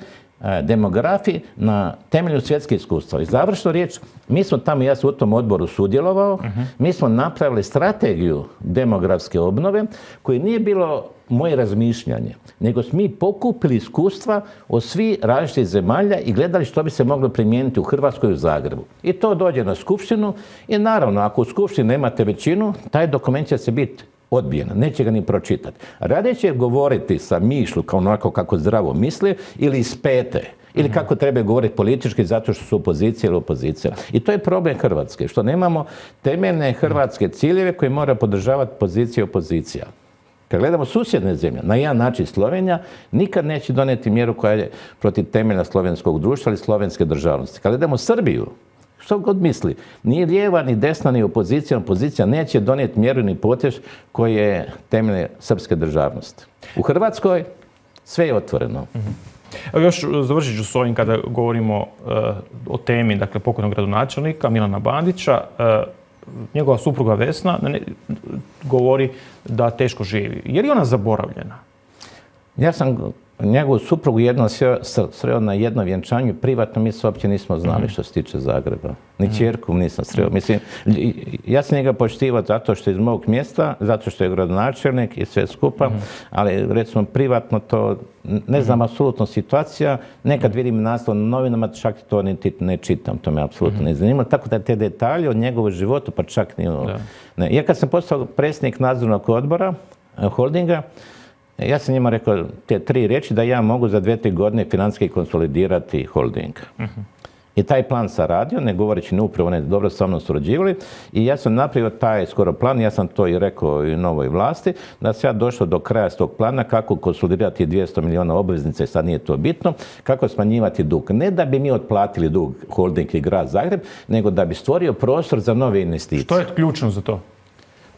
demografi na temelju svjetskih iskustva. I završno riječ, mi smo tamo, ja sam u tom odboru sudjelovao, uh-huh. mi smo napravili strategiju demografske obnove koji nije bilo moje razmišljanje, nego smo mi pokupili iskustva od svih različitih zemalja i gledali što bi se moglo primijeniti u Hrvatskoj i u Zagrebu. I to dođe na skupštinu i naravno, ako u skupštini nemate većinu, taj dokument će se biti odbijena, neće ga ni pročitati. Radije će govoriti sa mišlju kao onako kako zdravo misli ili iz pete. Ili kako treba govoriti politički zato što su opozicija ili opozicija. I to je problem Hrvatske, što nemamo temeljne hrvatske ciljeve koje mora podržavati pozicija i opozicija. Kad gledamo susjedne zemlje, na jedan način Slovenija nikad neće donijeti mjeru koja je protiv temelja slovenskog društva ili slovenske državnosti. Kad gledamo Srbiju, što god misli, ni lijeva, ni desna, ni opozicija, opozicija neće donijeti mjeru ni potez koji je temelje srpske državnosti. U Hrvatskoj sve je otvoreno. Mm-hmm. Evo još završit ću s ovim kada govorimo uh, o temi, dakle, pokojnog gradonačelnika Milana Bandića. Uh, njegova supruga Vesna ne, govori da teško živi. Je li ona zaboravljena? Ja sam njegovu suprugu jednom sreo na jednom vjenčanju, privatno mi se uopće nismo znali što se tiče Zagreba. Ni ćerku nisam sreo. Mislim, ja sam njega poštivao zato što je iz mog mjesta, zato što je gradonačelnik i sve skupa, ali recimo privatno to, ne znam, apsolutno situacija, nekad vidim naslov na novinama, čak to ne, ne čitam, to me apsolutno ne zanima. Tako da te detalje o njegovu životu, pa čak ni... Ne. Ja kad sam postao predsjednik nadzornog odbora holdinga, ja sam njima rekao te tri riječi da ja mogu za dvije, tri godine financijski konsolidirati holding. Uh-huh. I taj plan sam radio, ne govoreći ni upravo, ne dobro sa mnom surađivali. I ja sam napravio taj skoro plan, ja sam to i rekao i novoj vlasti, da se ja došao do kraja s tog plana kako konsolidirati dvjesto milijuna obveznica, i sad nije to bitno, kako smanjivati dug. Ne da bi mi otplatili dug holding i grad Zagreb, nego da bi stvorio prostor za nove investicije. Što je ključno za to?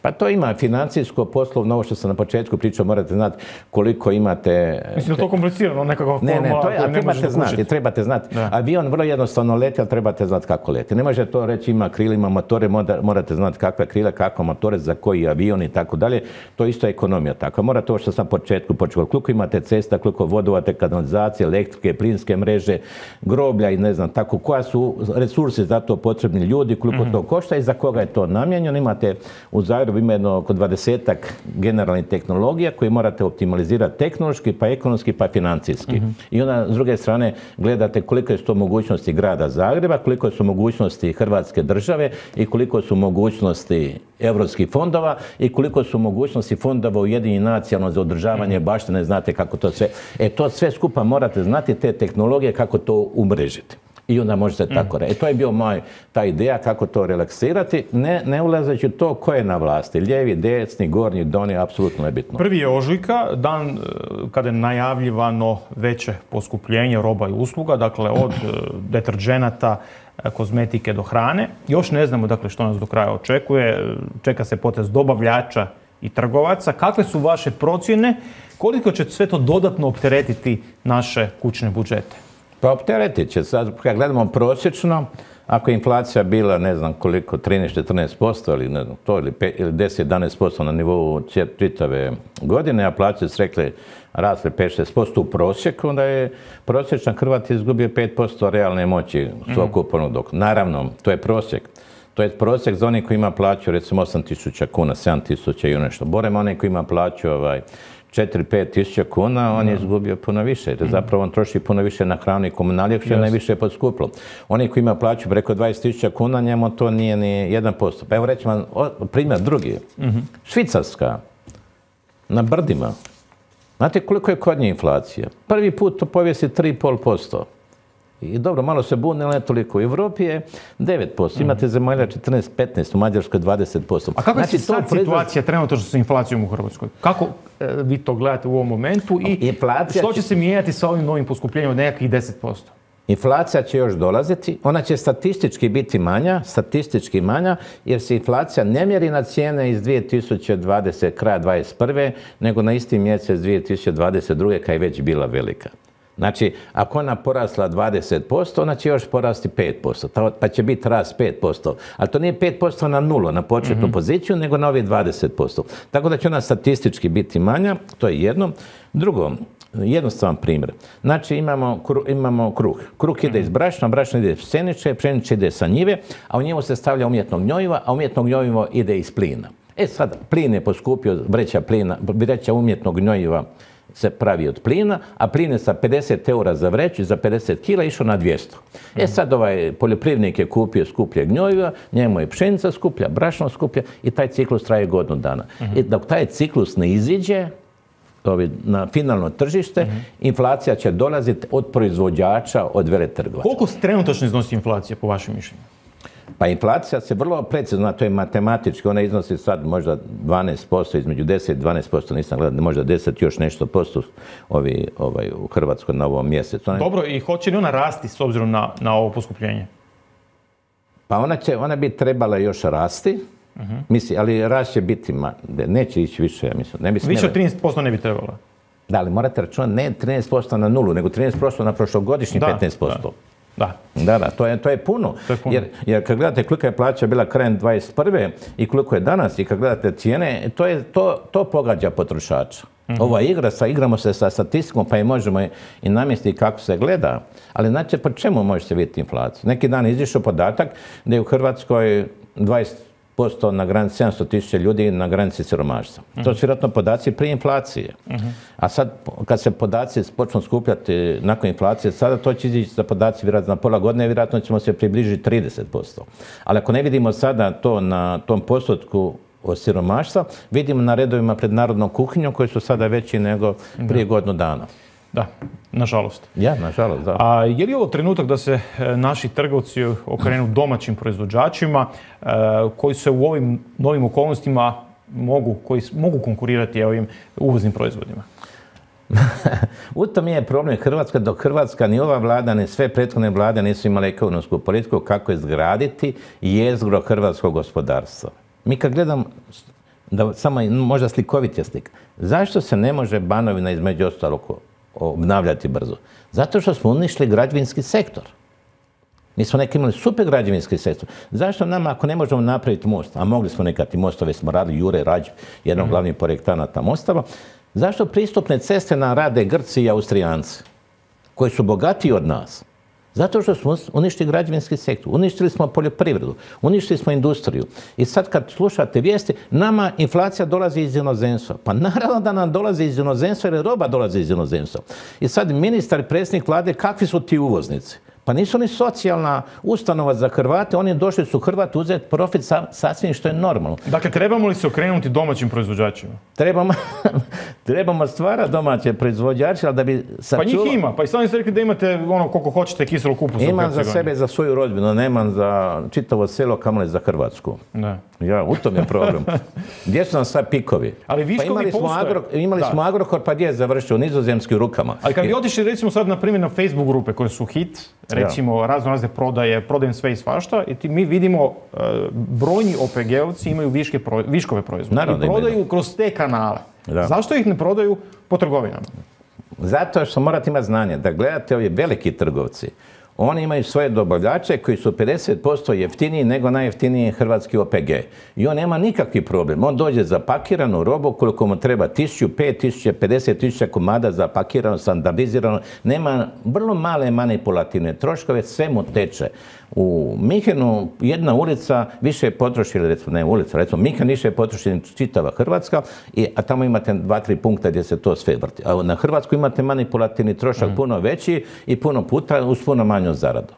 Pa to ima financijsko, poslovno, ovo što sam na početku pričao, morate znati koliko imate... Mislim da je to komplicirano, nekako formula. Ne, ne, to je, a trebate znati, trebate znati. Avion vrlo jednostavno leti, ali trebate znati kako leti. Ne može to reći ima krila, ima motore, morate znati kakve krila, kakve motore, za koji avion i tako dalje. To isto je ekonomija tako. Morate ovo što sam na početku počeo. Koliko imate cesta, koliko vodovate, kanalizacije, elektrike, plinske mreže, groblja i ne znam tako, koja su resursi za to potrebni ljudi, koliko mm-hmm. to košta i za koga je to namijenjeno. Imate u Zagrebu ima jedno oko dvadesetak generalnih tehnologija koje morate optimalizirati tehnološki, pa ekonomski, pa financijski. Mm-hmm. I onda, s druge strane, gledate koliko su to mogućnosti grada Zagreba, koliko su mogućnosti Hrvatske države i koliko su mogućnosti europskih fondova i koliko su mogućnosti fondova Ujedinjenih nacija za održavanje baštine, znate kako to sve. E, to sve skupa morate znati, te tehnologije, kako to umrežiti. I onda možete tako reći. E, to je bio moj, ta ideja kako to relaksirati, ne, ne ulazeći to ko je na vlasti. Lijevi, desni, gornji, donji, apsolutno nebitno. Prvi je ožujka, dan kada je najavljivano veće poskupljenje roba i usluga, dakle od deterdženata, kozmetike do hrane. Još ne znamo dakle što nas do kraja očekuje. Čeka se potez dobavljača i trgovaca. Kakve su vaše procjene? Koliko će sve to dodatno opteretiti naše kućne budžete? Pa opteretit će. Sad, kad gledamo prosječno, ako je inflacija bila, ne znam koliko, trinaest do četrnaest posto ili, ne znam, to, ili, ili deset do jedanaest posto na nivou čitave godine, a plaće su rekli rasle pet do šest posto u prosjeku, onda je prosječan Hrvat izgubio pet posto realne moći svog kupovnog dohotka. Naravno, to je prosjek. To je prosjek za onih koji ima plaću, recimo osam tisuća kuna, sedam tisuća i nešto. Borem onaj koji ima plaću ovaj, četiri do pet tisuća kuna, on je izgubio puno više. Jer zapravo on troši puno više na hranu i komunalije, što je najviše poskupilo. Onaj koji ima plaću preko dvadeset tisuća kuna, njemu to nije ni jedan posto. Pa evo reći vam primjer drugi. Švicarska, na brdima. Znate koliko je kod nje inflacija? Prvi put to povijesti tri zarez pet posto. I dobro, malo se bune, ali ne toliko. U Evropi je devet posto. Imate zemalja četrnaest do petnaest, u Mađarskoj dvadeset posto. A kakva je znači, sad situacija trenutno sa inflacijom u Hrvatskoj? Kako e, vi to gledate u ovom momentu i inflacija što će se mijenjati sa ovim novim poskupljenjem od nekakvih deset posto? Inflacija će još dolaziti, ona će statistički biti manja, statistički manja, jer se inflacija ne mjeri na cijene iz dvije tisuće dvadesete. kraja dvadeset prve. nego na isti mjesec dvije tisuće dvadeset druge. kad je već bila velika. Znači, ako ona porasla dvadeset posto, ona će još porasti pet posto, pa će biti rast pet posto. Ali to nije pet posto na nulu, na početnu mm-hmm. poziciju, nego na ovih dvadeset posto. Tako da će ona statistički biti manja, to je jedno. Drugo, jednostavan primjer. Znači, imamo, kru, imamo kruh. Kruh ide iz brašna, brašno ide iz pšenice, pšenica ide sa njive, a u njemu se stavlja umjetno gnojiva, a umjetno gnojivo ide iz plina. E sad, plin je poskupio, vreća, plina, vreća umjetnog gnojiva se pravi od plina, a plin je sa pedeset eura za vreću, za pedeset kila išao na dvjesto. E sad ovaj poljoprivrednik je kupio skuplje gnojiva, njemu je pšenica skuplja, brašno skuplja i taj ciklus traje godinu dana. I dok taj ciklus ne iziđe na finalno tržište, inflacija će dolaziti od proizvođača, od veletrgovaca. Koliko trenutačno iznosi inflacija po vašem mišljenju? Pa inflacija se vrlo precizno, to je matematički, ona iznosi sad možda dvanaest posto, između deset i dvanaest posto, nisam gledao, možda deset još nešto posto ovi, ovaj, u Hrvatskoj na ovom mjesecu. Ona... Dobro, i hoće li ona rasti s obzirom na, na ovo poskupljenje? Pa ona, će, ona bi trebala još rasti, uh-huh. Misli, ali rast će biti, ma, neće ići više, ja mislim. Ne bi više od trinaest posto ne bi trebala? Da, ali morate računati ne trinaest posto na nulu, nego trinaest posto na prošlogodišnji da, petnaest posto. Da. Da, da, to je, to je puno. To je puno. Jer, jer kad gledate kolika je plaća bila krajem dvadeset prve i koliko je danas i kad gledate cijene, to, je, to, to pogađa potrošača. Mm-hmm. Ova igra, sa, igramo se sa statistikom pa i možemo i, i namjestiti kako se gleda. Ali znači, po čemu možete vidjeti inflaciju? Neki dan je izišao podatak da je u Hrvatskoj dvadeset posto na granici sedamsto tisuća ljudi na granici siromaštva. Mm-hmm. To su vjerojatno podaci prije inflacije. Mm-hmm. A sad, kad se podaci počnu skupljati nakon inflacije, sada to će izići za podaci vjerojatno na pola godine, vjerojatno ćemo se približiti trideset posto. Ali ako ne vidimo sada to na tom postotku od siromaštva, vidimo na redovima pred narodnom kuhinjom koji su sada veći nego prije da. godinu dana. Da, nažalost. Ja, nažalost, da. A je li ovo trenutak da se naši trgovci okrenu domaćim proizvođačima koji se u ovim novim okolnostima mogu, koji mogu konkurirati ovim uvoznim proizvodima? U tom je problem Hrvatska, dok Hrvatska ni ova vlada, ni sve prethodne vlade nisu imale ekonomsku politiku kako izgraditi jezgro hrvatskog gospodarstva. Mi kad gledam, da samo možda slikovit je slik, zašto se ne može Banovina između ostalog obnavljati brzo? Zato što smo uništili građevinski sektor. Mi smo neki imali super građevinski sektor. Zašto nama, ako ne možemo napraviti most, a mogli smo nekati mostove, smo radili Jure Rađ, jedan od glavnih projektanata mostova, zašto pristupne ceste nam rade Grci i Austrijanci, koji su bogatiji od nas? Zato što smo uništili građevinski sektor, uništili smo poljoprivredu, uništili smo industriju. I sad kad slušate vijesti, nama inflacija dolazi iz inozemstva. Pa naravno da nam dolazi iz inozemstva jer roba dolazi iz inozemstva. I sad ministar i predsjednik vlade, kakvi su ti uvoznici? Pa nisu ni socijalna ustanova za Hrvate, oni došli su Hrvati uzeti profit sa, sasvim što je normalno. Dakle, trebamo li se okrenuti domaćim proizvođačima? Trebamo, trebamo stvarati domaće proizvođače, ali da bi sačuvali... Pa njih ima, pa i sami ste rekli da imate ono koliko hoćete kiselo kupusa. Imam za sebe, za svoju rodbinu, nemam za čitavo selo, kamoli za Hrvatsku. Ne. Ja, u tom je problem. Gdje su nam sad pikovi? Ali viškovi pa imali smo, agro, imali smo Agrokor, pa gdje je završio? U nizozemskim rukama. Ali kad bi otišli recimo sad na primjer na Facebook grupe koje su hit, recimo ja. razno razne prodaje, prodajem sve i svašta, i ti, mi vidimo uh, brojni O P G-ovci imaju viške pro, viškove proizvoda i prodaju imaju. Kroz te kanale. Da. Zašto ih ne prodaju po trgovinama? Zato što morate imati znanje da gledate ovi veliki trgovci. Oni imaju svoje dobavljače koji su pedeset posto jeftiniji nego najjeftiniji hrvatski O P G. I on nema nikakvi problem. On dođe za pakiranu robu koliko mu treba tisuću, pet tisuća, pedeset tisuća komada za pakirano, standardizirano. Nema vrlo male manipulativne troškove, sve mu teče. U Minhenu jedna ulica više potroši, recimo ne ulica, recimo Minhen više potroši čitava Hrvatska, i, a tamo imate dva, tri punkta gdje se to sve vrti. A na Hrvatsku imate manipulativni trošak mm. puno veći i puno puta uz puno manju zaradu.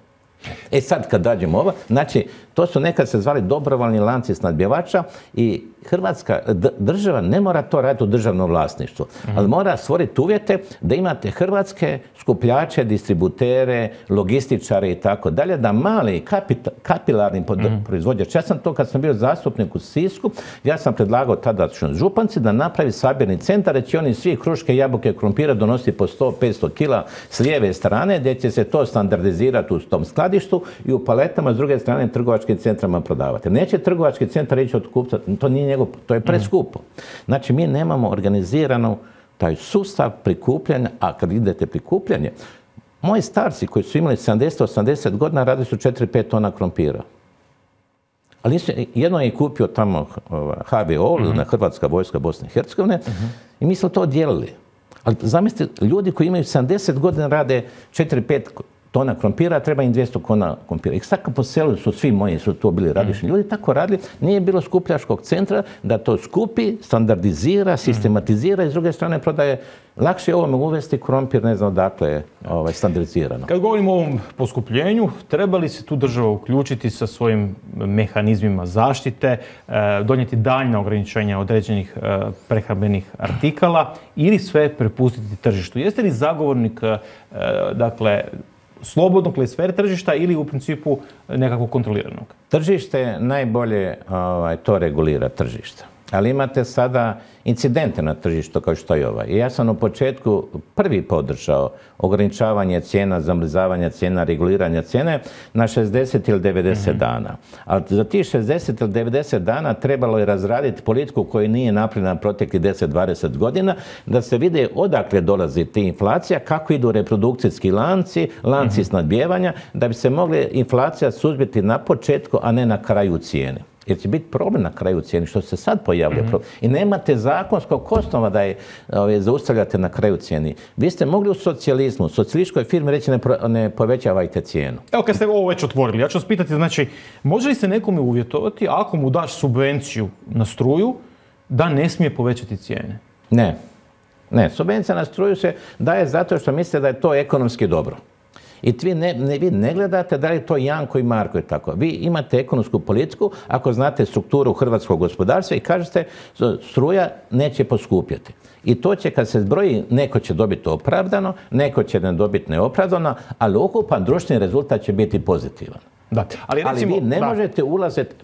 E sad kad dađemo ovo, znači to su nekad se zvali dobrovoljni lanci snabdjevača i Hrvatska država ne mora to raditi u državnom vlasništvu, mm-hmm. ali mora stvoriti uvjete da imate hrvatske skupljače, distributere, logističare i tako dalje, da mali kapita, kapilarni mm-hmm. proizvođač. Ja sam to kad sam bio zastupnik u Sisku, ja sam predlagao tadašnjoj županci da napravi sabirni centar, da će oni svi kruške, jabuke, krumpira donositi po sto do petsto kila s lijeve strane, gdje će se to standardizirati u tom skladištu i u paletama s druge strane trgovačkim centrama prodavati. Neće trgovački centar ići od kupca, to nije njegov, to je preskupo. Znači, mi nemamo organizirano taj sustav prikupljanja, a kad idete prikupljanje, moji starci koji su imali sedamdeset osamdeset godina radili su četiri do pet tona krompira. Ali nisu, jedno je kupio tamo H V O, mm-hmm. Hrvatska vojska Bosne i Hercegovine, mm-hmm. i mi smo to dijelili. Ali zamislite, ljudi koji imaju sedamdeset godina rade četiri do pet tona krompira, treba im dvjesto kona krompira. I tako po selu su svi moji, su to bili radišni ljudi, tako radili. Nije bilo skupljačkog centra da to skupi, standardizira, sistematizira i s druge strane prodaje. Lakše je ovome uvesti krompir, ne znam odakle je ovaj, standardizirano. Kad govorimo o ovom poskupljenju, treba li se tu država uključiti sa svojim mehanizmima zaštite, donijeti daljnja ograničenja određenih prehrambenih artikala ili sve prepustiti tržištu? Jeste li zagovornik, dakle, slobodnog sfere tržišta ili u principu nekakvog kontroliranog? Tržište najbolje ovaj, to regulira tržište. Ali imate sada incidente na tržištu kao što je ovaj. I ja sam u početku prvi podržao ograničavanje cijena, zamrzavanje cijena, reguliranje cijene na šezdeset ili devedeset mm-hmm. dana. Ali za tih šezdeset ili devedeset dana trebalo je razraditi politiku koju nije napravljena proteklih deset do dvadeset godina, da se vide odakle dolazi ta inflacija, kako idu reprodukcijski lanci, lanci mm-hmm. snabdijevanja, da bi se mogla inflacija suzbiti na početku, a ne na kraju cijene. Jer će biti problem na kraju cijeni, što se sad pojavlja mm-hmm. problem. I nemate zakonskog osnova da je ove, zaustavljate na kraju cijeni. Vi ste mogli u socijalizmu, u socijalističkoj firmi reći ne, ne povećavajte cijenu. Evo kad ste ovo već otvorili, ja ću vas pitati, znači, može li se nekome uvjetovati ako mu daš subvenciju na struju da ne smije povećati cijene? Ne. Ne, subvencija na struju se daje zato što mislite da je to ekonomski dobro. I vi ne, ne, vi ne gledate da li je to Janko i Marko i tako. Vi imate ekonomsku politiku, ako znate strukturu hrvatskog gospodarstva i kažete struja neće poskupjeti. I to će kad se zbroji, neko će dobiti opravdano, neko će ne dobiti neopravdano, ali ukupan društveni rezultat će biti pozitivan. Da. Ali, recimo, ali vi ne da. možete ulaziti...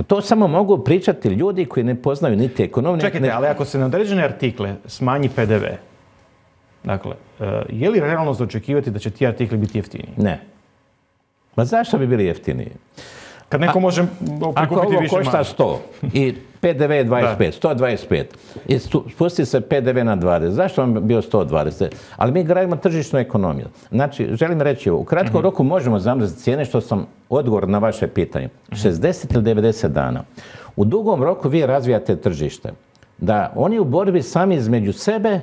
To samo mogu pričati ljudi koji ne poznaju niti ekonomiju. Čekajte, ne... ali ako se na određene artikle smanji P D V, dakle, je li realno za očekivati da će ti artikli biti jeftiniji? Ne. Ma zašto bi bili jeftiniji? Kad neko može prikupiti ako ovo više košta sto i P D V je dvadeset pet, sto dvadeset pet i spusti se P D V na dvadeset, zašto vam bio sto dvadeset? Ali mi gradimo tržišnu ekonomiju. Znači, želim reći ovo, u kratkom mm-hmm. roku možemo zamrziti cijene, što sam odgovor na vaše pitanje. Mm-hmm. šezdeset ili devedeset dana. U dugom roku vi razvijate tržište. Da oni u borbi sami između sebe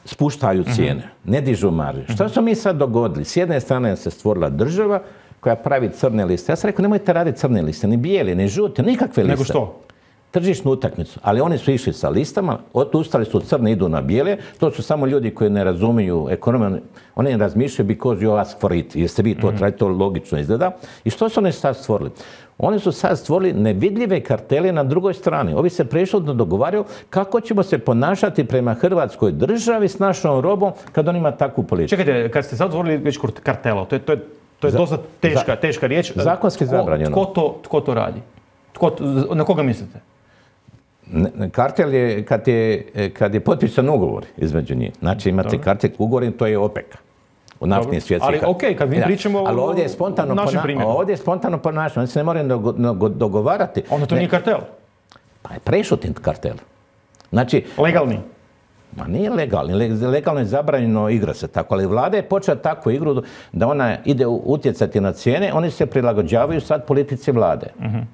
spuštaju cijene, ne dižu marže. Što smo mi sad dogodili? S jedne strane se stvorila država koja pravi crne liste. Ja sam rekao, nemojte raditi crne liste, ni bijeli, ni žute, nikakve liste. Nego što? Tržišnu utakmicu. Ali oni su išli sa listama, odustali su crne, idu na bijele. To su samo ljudi koji ne razumiju ekonomiju. Oni razmišljaju because you ask for it. Jeste vi to mm-hmm. tražite, to logično izgleda. I što su oni sad stvorili? Oni su sad stvorili nevidljive kartele na drugoj strani. Ovi se prešutno dogovaraju kako ćemo se ponašati prema Hrvatskoj državi s našom robom kad on ima takvu politiku. Čekajte, kad ste sad otvorili već kartela, to je, to je, to je Za, dosta teška, za, teška riječ. Zakonski zabranjeno. Tko to, tko to radi? Tko, na koga mislite? Kartel je kad je, kad je potpisan ugovor između njih. Znači imate Dobre. kartel ugovor, to je OPEC. U naftnim svjetskih. Ali okej, okay, kad mi ja. pričamo ali ovdje je spontano o našem primjeru. Ovdje je spontano ponašanje, oni se ne moraju dogo, dogovarati. Onda to ne. nije kartel? Pa je prešutin kartel. Znači, legalni? Ma nije legalni, legalno je zabranjeno igra se tako, ali vlada je počela takvu igru da ona ide utjecati na cijene, oni se prilagođavaju sad politici vlade. Uh-huh.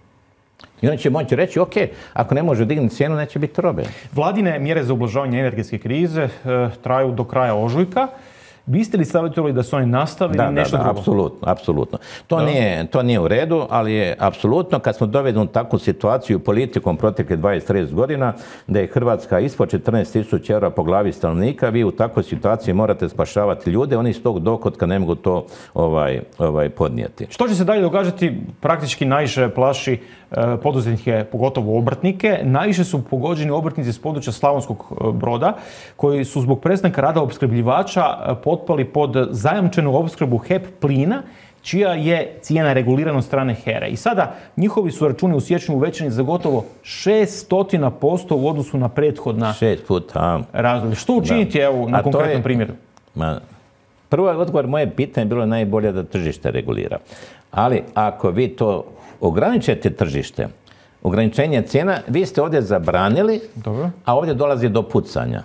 I oni će moći reći, ok, ako ne može dignuti cijenu, neće biti robe. Vladine mjere za ublažavanje energetske krize e, traju do kraja ožujka. Biste li savjetovali da su oni nastavili da, nešto da, da, drugo? Apsolutno, apsolutno. To nije, to nije u redu, ali je apsolutno kad smo dovedeni u takvu situaciju politikom proteklih dvadeset do trideset godina, da je Hrvatska ispod četrnaest tisuća eura po glavi stanovnika, vi u takvoj situaciji morate spašavati ljude, oni iz tog dohotka ne mogu to ovaj, ovaj, podnijeti. Što će se dalje događati? Praktički najviše plaši e, poduzetnike, pogotovo obrtnike. Najviše su pogođeni obrtnici s područja Slavonskog Broda, koji su zbog prestanka rada opskrbljivača potpali pod zajamčenu opskrbu H E P plina, čija je cijena regulirana od strane H E R A. I sada njihovi su računi u siječnju uvećani za gotovo šesto posto u odnosu na prethodna Šest puta. razdoblje. Što učiniti evo, na konkretnom je, primjeru? Ma, prvo odgovor moje pitanje je bilo najbolje da tržište regulira. Ali ako vi to ograničite tržište, ograničenje cijena, vi ste ovdje zabranili, Dobro. a ovdje dolazi do pucanja.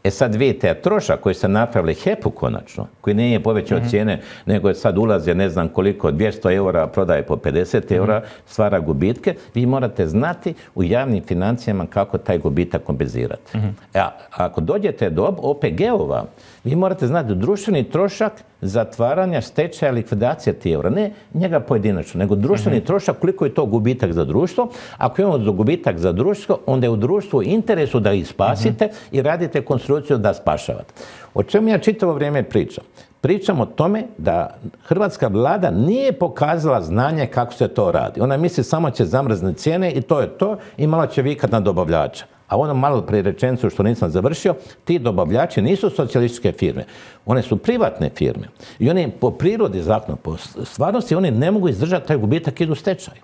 E sad vidite, trošak koji ste napravili H E P-u konačno, koji nije povećao mm-hmm. cijene, nego je sad ulaze ne znam koliko, dvjesto eura, prodaje po pedeset eura, mm-hmm. stvara gubitke, vi morate znati u javnim financijama kako taj gubitak kompenzirati. Mm-hmm. A ako dođete do O P G-ova, vi morate znati društveni trošak zatvaranja, stečaja, likvidacije tih eura. Ne njega pojedinačno, nego društveni mm-hmm. trošak, koliko je to gubitak za društvo. Ako imamo gubitak za društvo, onda je u društvu interesu da ih spasite mm-hmm. i radite konstrukciju da spašavate. O čemu ja čitavo vrijeme pričam? Pričam o tome da hrvatska vlada nije pokazala znanje kako se to radi. Ona misli samo će zamrzniti cijene i to je to i malo će vikat na dobavljača. A ono malo prije rečenicu što nisam završio, ti dobavljači nisu socijalističke firme. One su privatne firme. I oni po prirodi zakona, po stvarnosti, oni ne mogu izdržati taj gubitak, idu u stečaj.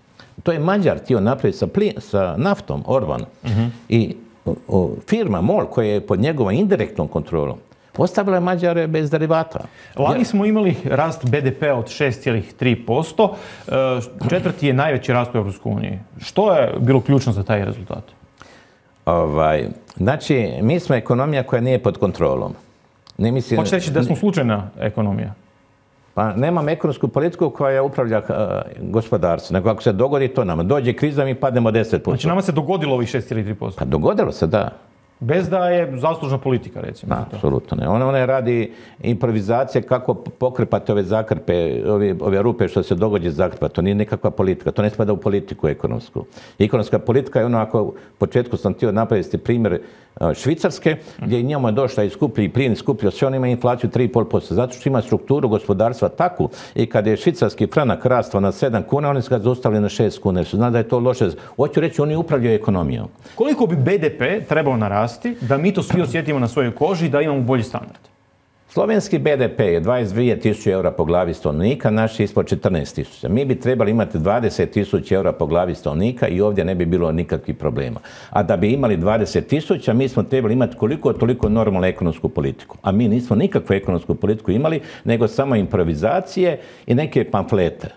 To je Mađar htio napraviti sa, plin, sa naftom, Orban. Mm-hmm. I o, o, firma MOL koja je pod njegovom indirektnom kontrolom ostavila je Mađare bez derivata. Lani smo imali rast B D P-a od šest zarez tri posto. Četvrti je najveći rast u Europskoj uniji. Što je bilo ključno za taj rezultat? Ovaj, znači, mi smo ekonomija koja nije pod kontrolom. Ne mislim, Hoćete reći da smo slučajna ekonomija? Pa nemam ekonomsku politiku koja upravlja uh, gospodarstvo. Nego ako se dogodi to nama, dođe kriza, mi pademo deset posto. Znači nama se dogodilo ovih šest zarez tri posto? Pa dogodilo se, da. Bez da je zaslužna politika, recimo. Da, apsolutno ne. Ona, ona radi improvizacije kako pokrpati ove zakrpe, ove, ove rupe što se dogodi zakrpa. To nije nikakva politika. To ne spada u politiku ekonomsku. Ekonomska politika je ono, ako u početku sam htio napraviti primjer Švicarske, gdje njemu je došla i skuplji plin, skuplji sve, on ima inflaciju tri zarez pet posto. Zato što ima strukturu gospodarstva takvu i kad je švicarski franak rastao na sedam kuna, oni su ga zaustavili na šest kuna. Jer su znali da je to loše. Hoću reći, oni upravljaju ekonomijom. Koliko bi B D P trebao narasti da mi to svi osjetimo na svojoj koži i da imamo bolji standard? Slovenski B D P je dvadeset dvije tisuće eura po glavi stanovnika, naš je ispod četrnaest tisuća. Mi bi trebali imati dvadeset tisuća eura po glavi stanovnika i ovdje ne bi bilo nikakvih problema. A da bi imali dvadeset tisuća, mi smo trebali imati koliko toliko normalnu ekonomsku politiku. A mi nismo nikakvu ekonomsku politiku imali, nego samo improvizacije i neke pamflete.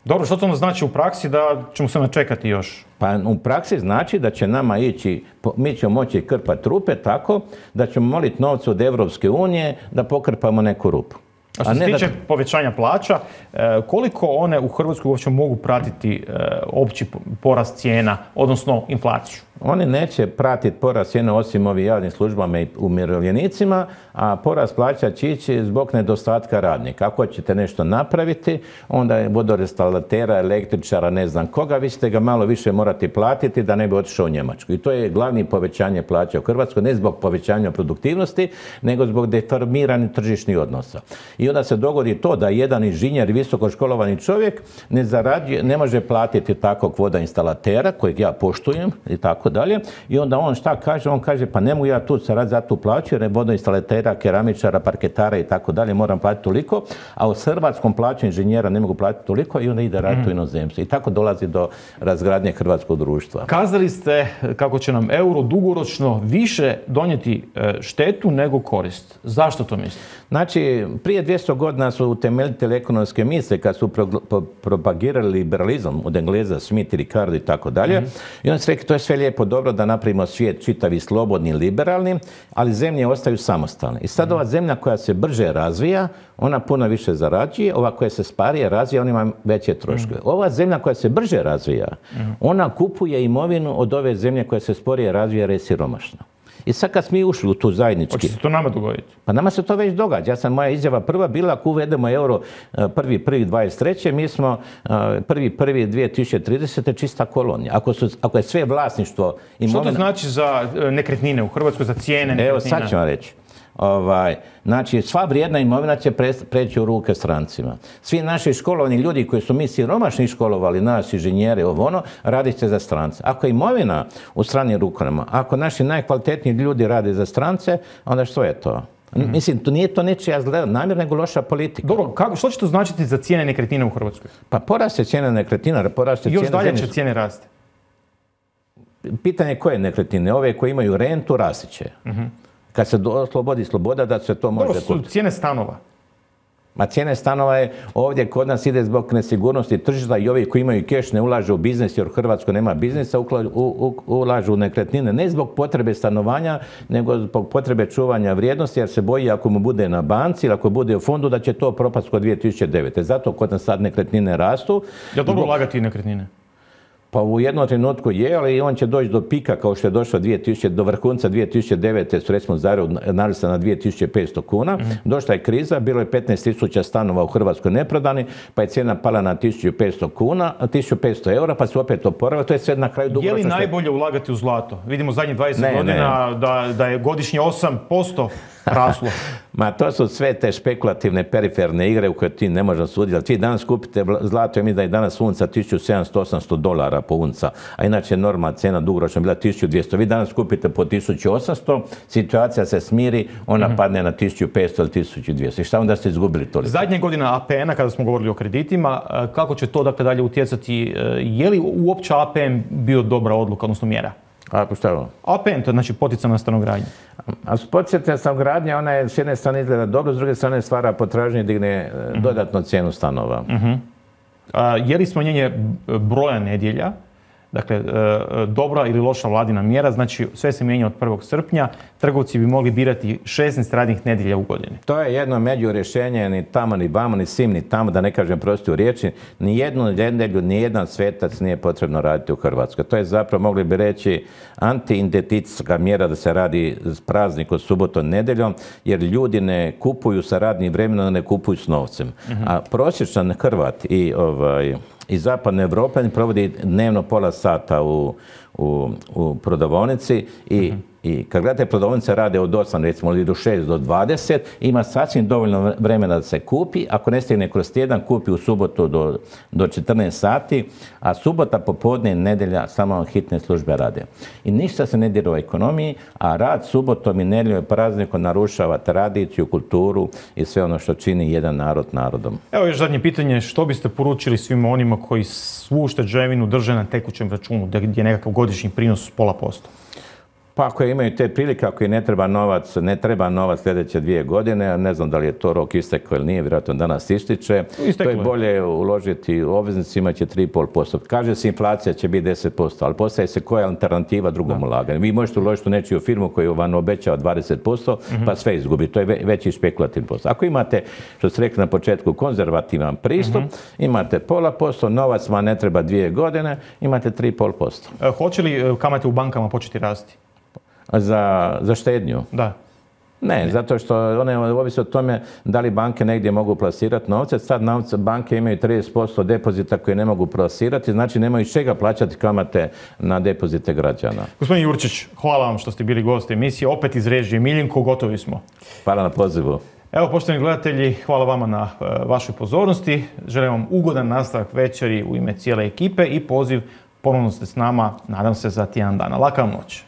Dobro, što to ono znači u praksi da ćemo se načekati još? Pa u praksi znači da će nama ići, mi ćemo moći krpati rupe tako da ćemo moliti novce od Evropske unije da pokrpamo neku rupu. A što se tiče da... povećanja plaća, koliko one u Hrvatskoj uopće mogu pratiti opći porast cijena, odnosno inflaciju? oni neće pratiti porast cijene osim ovim javnim službama i umirovljenicima, a porast plaća će ići zbog nedostatka radnika. Ako ćete nešto napraviti, onda je vodoinstalatera, električara, ne znam koga, vi ćete ga malo više morati platiti da ne bi otišao u Njemačku. I to je glavni povećanje plaća u Hrvatskoj, ne zbog povećanja produktivnosti, nego zbog deformiranih tržišnih odnosa. I onda se dogodi to da jedan inženjer, visokoškolovani čovjek ne zarađuje, ne može platiti takvog vodoinstalatera, kojeg ja poštujem i tako dalje. I onda on šta kaže? On kaže, pa ne mogu ja tu zaraditi za tu plaću, jer je vodoinstalatera, keramičara, parketara i tako dalje, moram platiti toliko, a u hrvatskom plaću inženjera ne mogu platiti toliko i onda ide raditi u inozemstvu. I tako dolazi do razgradnje hrvatskog društva. Kazali ste kako će nam euro dugoročno više donijeti štetu nego korist. Zašto to mislite? Znači, prije dvjesto godina su utemeljitelji ekonomske misle kad su pro, pro, propagirali liberalizam od Engleza, Smith, Ricardo i tako dalje. Mm-hmm. I oni su rekli, to je sve lijepo dobro da napravimo svijet čitavi, slobodni, liberalni, ali zemlje ostaju samostalne. I sad mm-hmm. ova zemlja koja se brže razvija, ona puno više zarađuje, ova koja se sparije razvija, ona ima veće troškove. Mm-hmm. Ova zemlja koja se brže razvija, mm-hmm. ona kupuje imovinu od ove zemlje koja se sporije razvija jer je siromašna. I sad kad smo ušli u tu zajednički... Hoće se to nama dogoditi? Pa nama se to već događa. Ja sam, moja izjava prva bila, ako uvedemo euro prvi prvi dvadeset treće mi smo prvi prvi dvije tisuće tridesete čista kolonija. Ako, su, ako je sve vlasništvo... Imovina... Što to znači za nekretnine u Hrvatskoj, za cijene nekretnina? Evo, sad ću vam reći. Ovaj, znači, sva vrijedna imovina će preći u ruke strancima. Svi naši školovani ljudi koji su mi siromašni školovali, nas inženjeri, ovo ono, radit će za strance. Ako je imovina u stranim rukama, ako naši najkvalitetniji ljudi rade za strance, onda što je to? Mm-hmm. Mislim, to nije to nečija zla namjer, nego loša politika. Dobro, kako, što će to značiti za cijene nekretnina u Hrvatskoj? Pa poraste cijene nekretnina, poraste cijene... Još dalje će cijene rasti? Pitanje koje nekretnine? Ove koje imaju rentu, rasti će. Mm-hmm. Kad se oslobodi sloboda, da se to može... Dobro, su cijene stanova. Ma cijene stanova je ovdje kod nas ide zbog nesigurnosti tržišta i ovi koji imaju keš ne ulažu u biznis jer u Hrvatskoj nema biznisa, ulažu u nekretnine ne zbog potrebe stanovanja, nego zbog potrebe čuvanja vrijednosti jer se boji ako mu bude na banci ili ako bude u fondu da će to propast kod dvije tisuće devete. Zato kod nas sad nekretnine rastu. Je li dobro ulagati nekretnine? Pa u jednom trenutku je, ali on će doći do pika kao što je došlo dvije tisuće, do vrhunca dvije tisuće devete su recimo Zagrebu narasla na dvije tisuće petsto kuna. Mm-hmm. Došla je kriza, bilo je petnaest tisuća stanova u Hrvatskoj neprodani, pa je cijena pala na tisuću petsto kuna, tisuću petsto eura, pa se opet oporavila. To je sve na kraju dugoročno. Je li najbolje ulagati u zlato? Vidimo zadnjih dvadeset ne, godina ne. Da, da je godišnje osam posto raslo. Ma to su sve te špekulativne periferne igre u koje ti ne možeš sudjelati. Vi danas kupite zlato, mi da je danas unca tisuću sedamsto do osamsto dolara po unca, a inače normalna cijena dugoročno bila tisuću dvjesto. Vi danas kupite po tisuću osamsto, situacija se smiri, ona mm-hmm. padne na tisuću petsto ili tisuću dvjesto. I šta onda ste izgubili toliko? Zadnje godina A P N-a, kada smo govorili o kreditima, kako će to dakle dalje utjecati? Je li uopće A P N bio dobra odluka, odnosno mjera? A šta je ovo? A P N, to je znači poticajna stanogradnja. A poticajna stanogradnja, ona je s jedne strane izgleda dobro, s druge strane stvara potražnju i digne mm-hmm. dodatno cijenu stanova. Mm-hmm. A, je li smanjenje broja nedjelja, dakle, dobra ili loša vladina mjera, znači sve se mijenja od prvog srpnja, trgovci bi mogli birati šesnaest radnih nedjelja u godini. To je jedno među rješenje, ni tamo, ni vamo, ni sim, ni tamo, da ne kažem prosti u riječi, ni jednu nedjelju, ni jedan svetac nije potrebno raditi u Hrvatskoj. To je zapravo, mogli bi reći, antiidentitetska mjera da se radi praznik od subotom nedjeljom, jer ljudi ne kupuju sa radnim vremenom, ne kupuju s novcem. Mm-hmm. A prosječan Hrvat i ovaj... i zapadne Europe provodi dnevno pola sata u, u, u prodavaonici i, mm-hmm. i kad gledate prodavaonice rade od osam recimo ili do šest do dvadeset, ima sasvim dovoljno vremena da se kupi, ako ne stigne kroz tjedan kupi u subotu do, do četrnaest sati, a subota popodne i nedjelja samo hitne službe rade. I ništa se ne dira u ekonomiji, a rad subotom i nedjeljom i praznikom narušava tradiciju, kulturu i sve ono što čini jedan narod narodom. Evo još zadnje pitanje, što biste poručili svima onima koji svu ušteđevinu drže na tekućem računu, gdje je nekakav godišnji prinos pola posto? Pa ako imaju te prilike, ako i ne treba novac, ne treba novac sljedeće dvije godine, ne znam da li je to rok istekao ili nije, vjerojatno danas ističe, Isteklo to je bolje uložiti u obveznicima, će tri i pol posto. Kaže se inflacija će biti deset posto, ali postaje se koja je alternativa drugom ulaganju. Vi možete uložiti u nečiju firmu koju vam obećava dvadeset posto, mm-hmm. pa sve izgubi. To je veći špekulativni posto. Ako imate, što ste rekli na početku, konzervativan pristup, mm-hmm. imate pola posto, novac vam ne treba dvije godine, imate tri i pol posto. E, hoće li kamate u bankama početi rasti? Za, za štednju? Da. Ne, zato što one ovisi o tome da li banke negdje mogu plasirati novce. Sad novce banke imaju trideset posto depozita koje ne mogu plasirati, znači nemaju iz čega plaćati kamate na depozite građana. Gospodin Jurčić, hvala vam što ste bili gost emisije. Opet iz režije Miljenko, gotovi smo. Hvala na pozivu. Evo, poštovani gledatelji, hvala vama na uh, vašoj pozornosti. Želim vam ugodan nastavak večeri u ime cijele ekipe i poziv ponovno ste s nama, nadam se, za tjedan dana. Laka vam noć.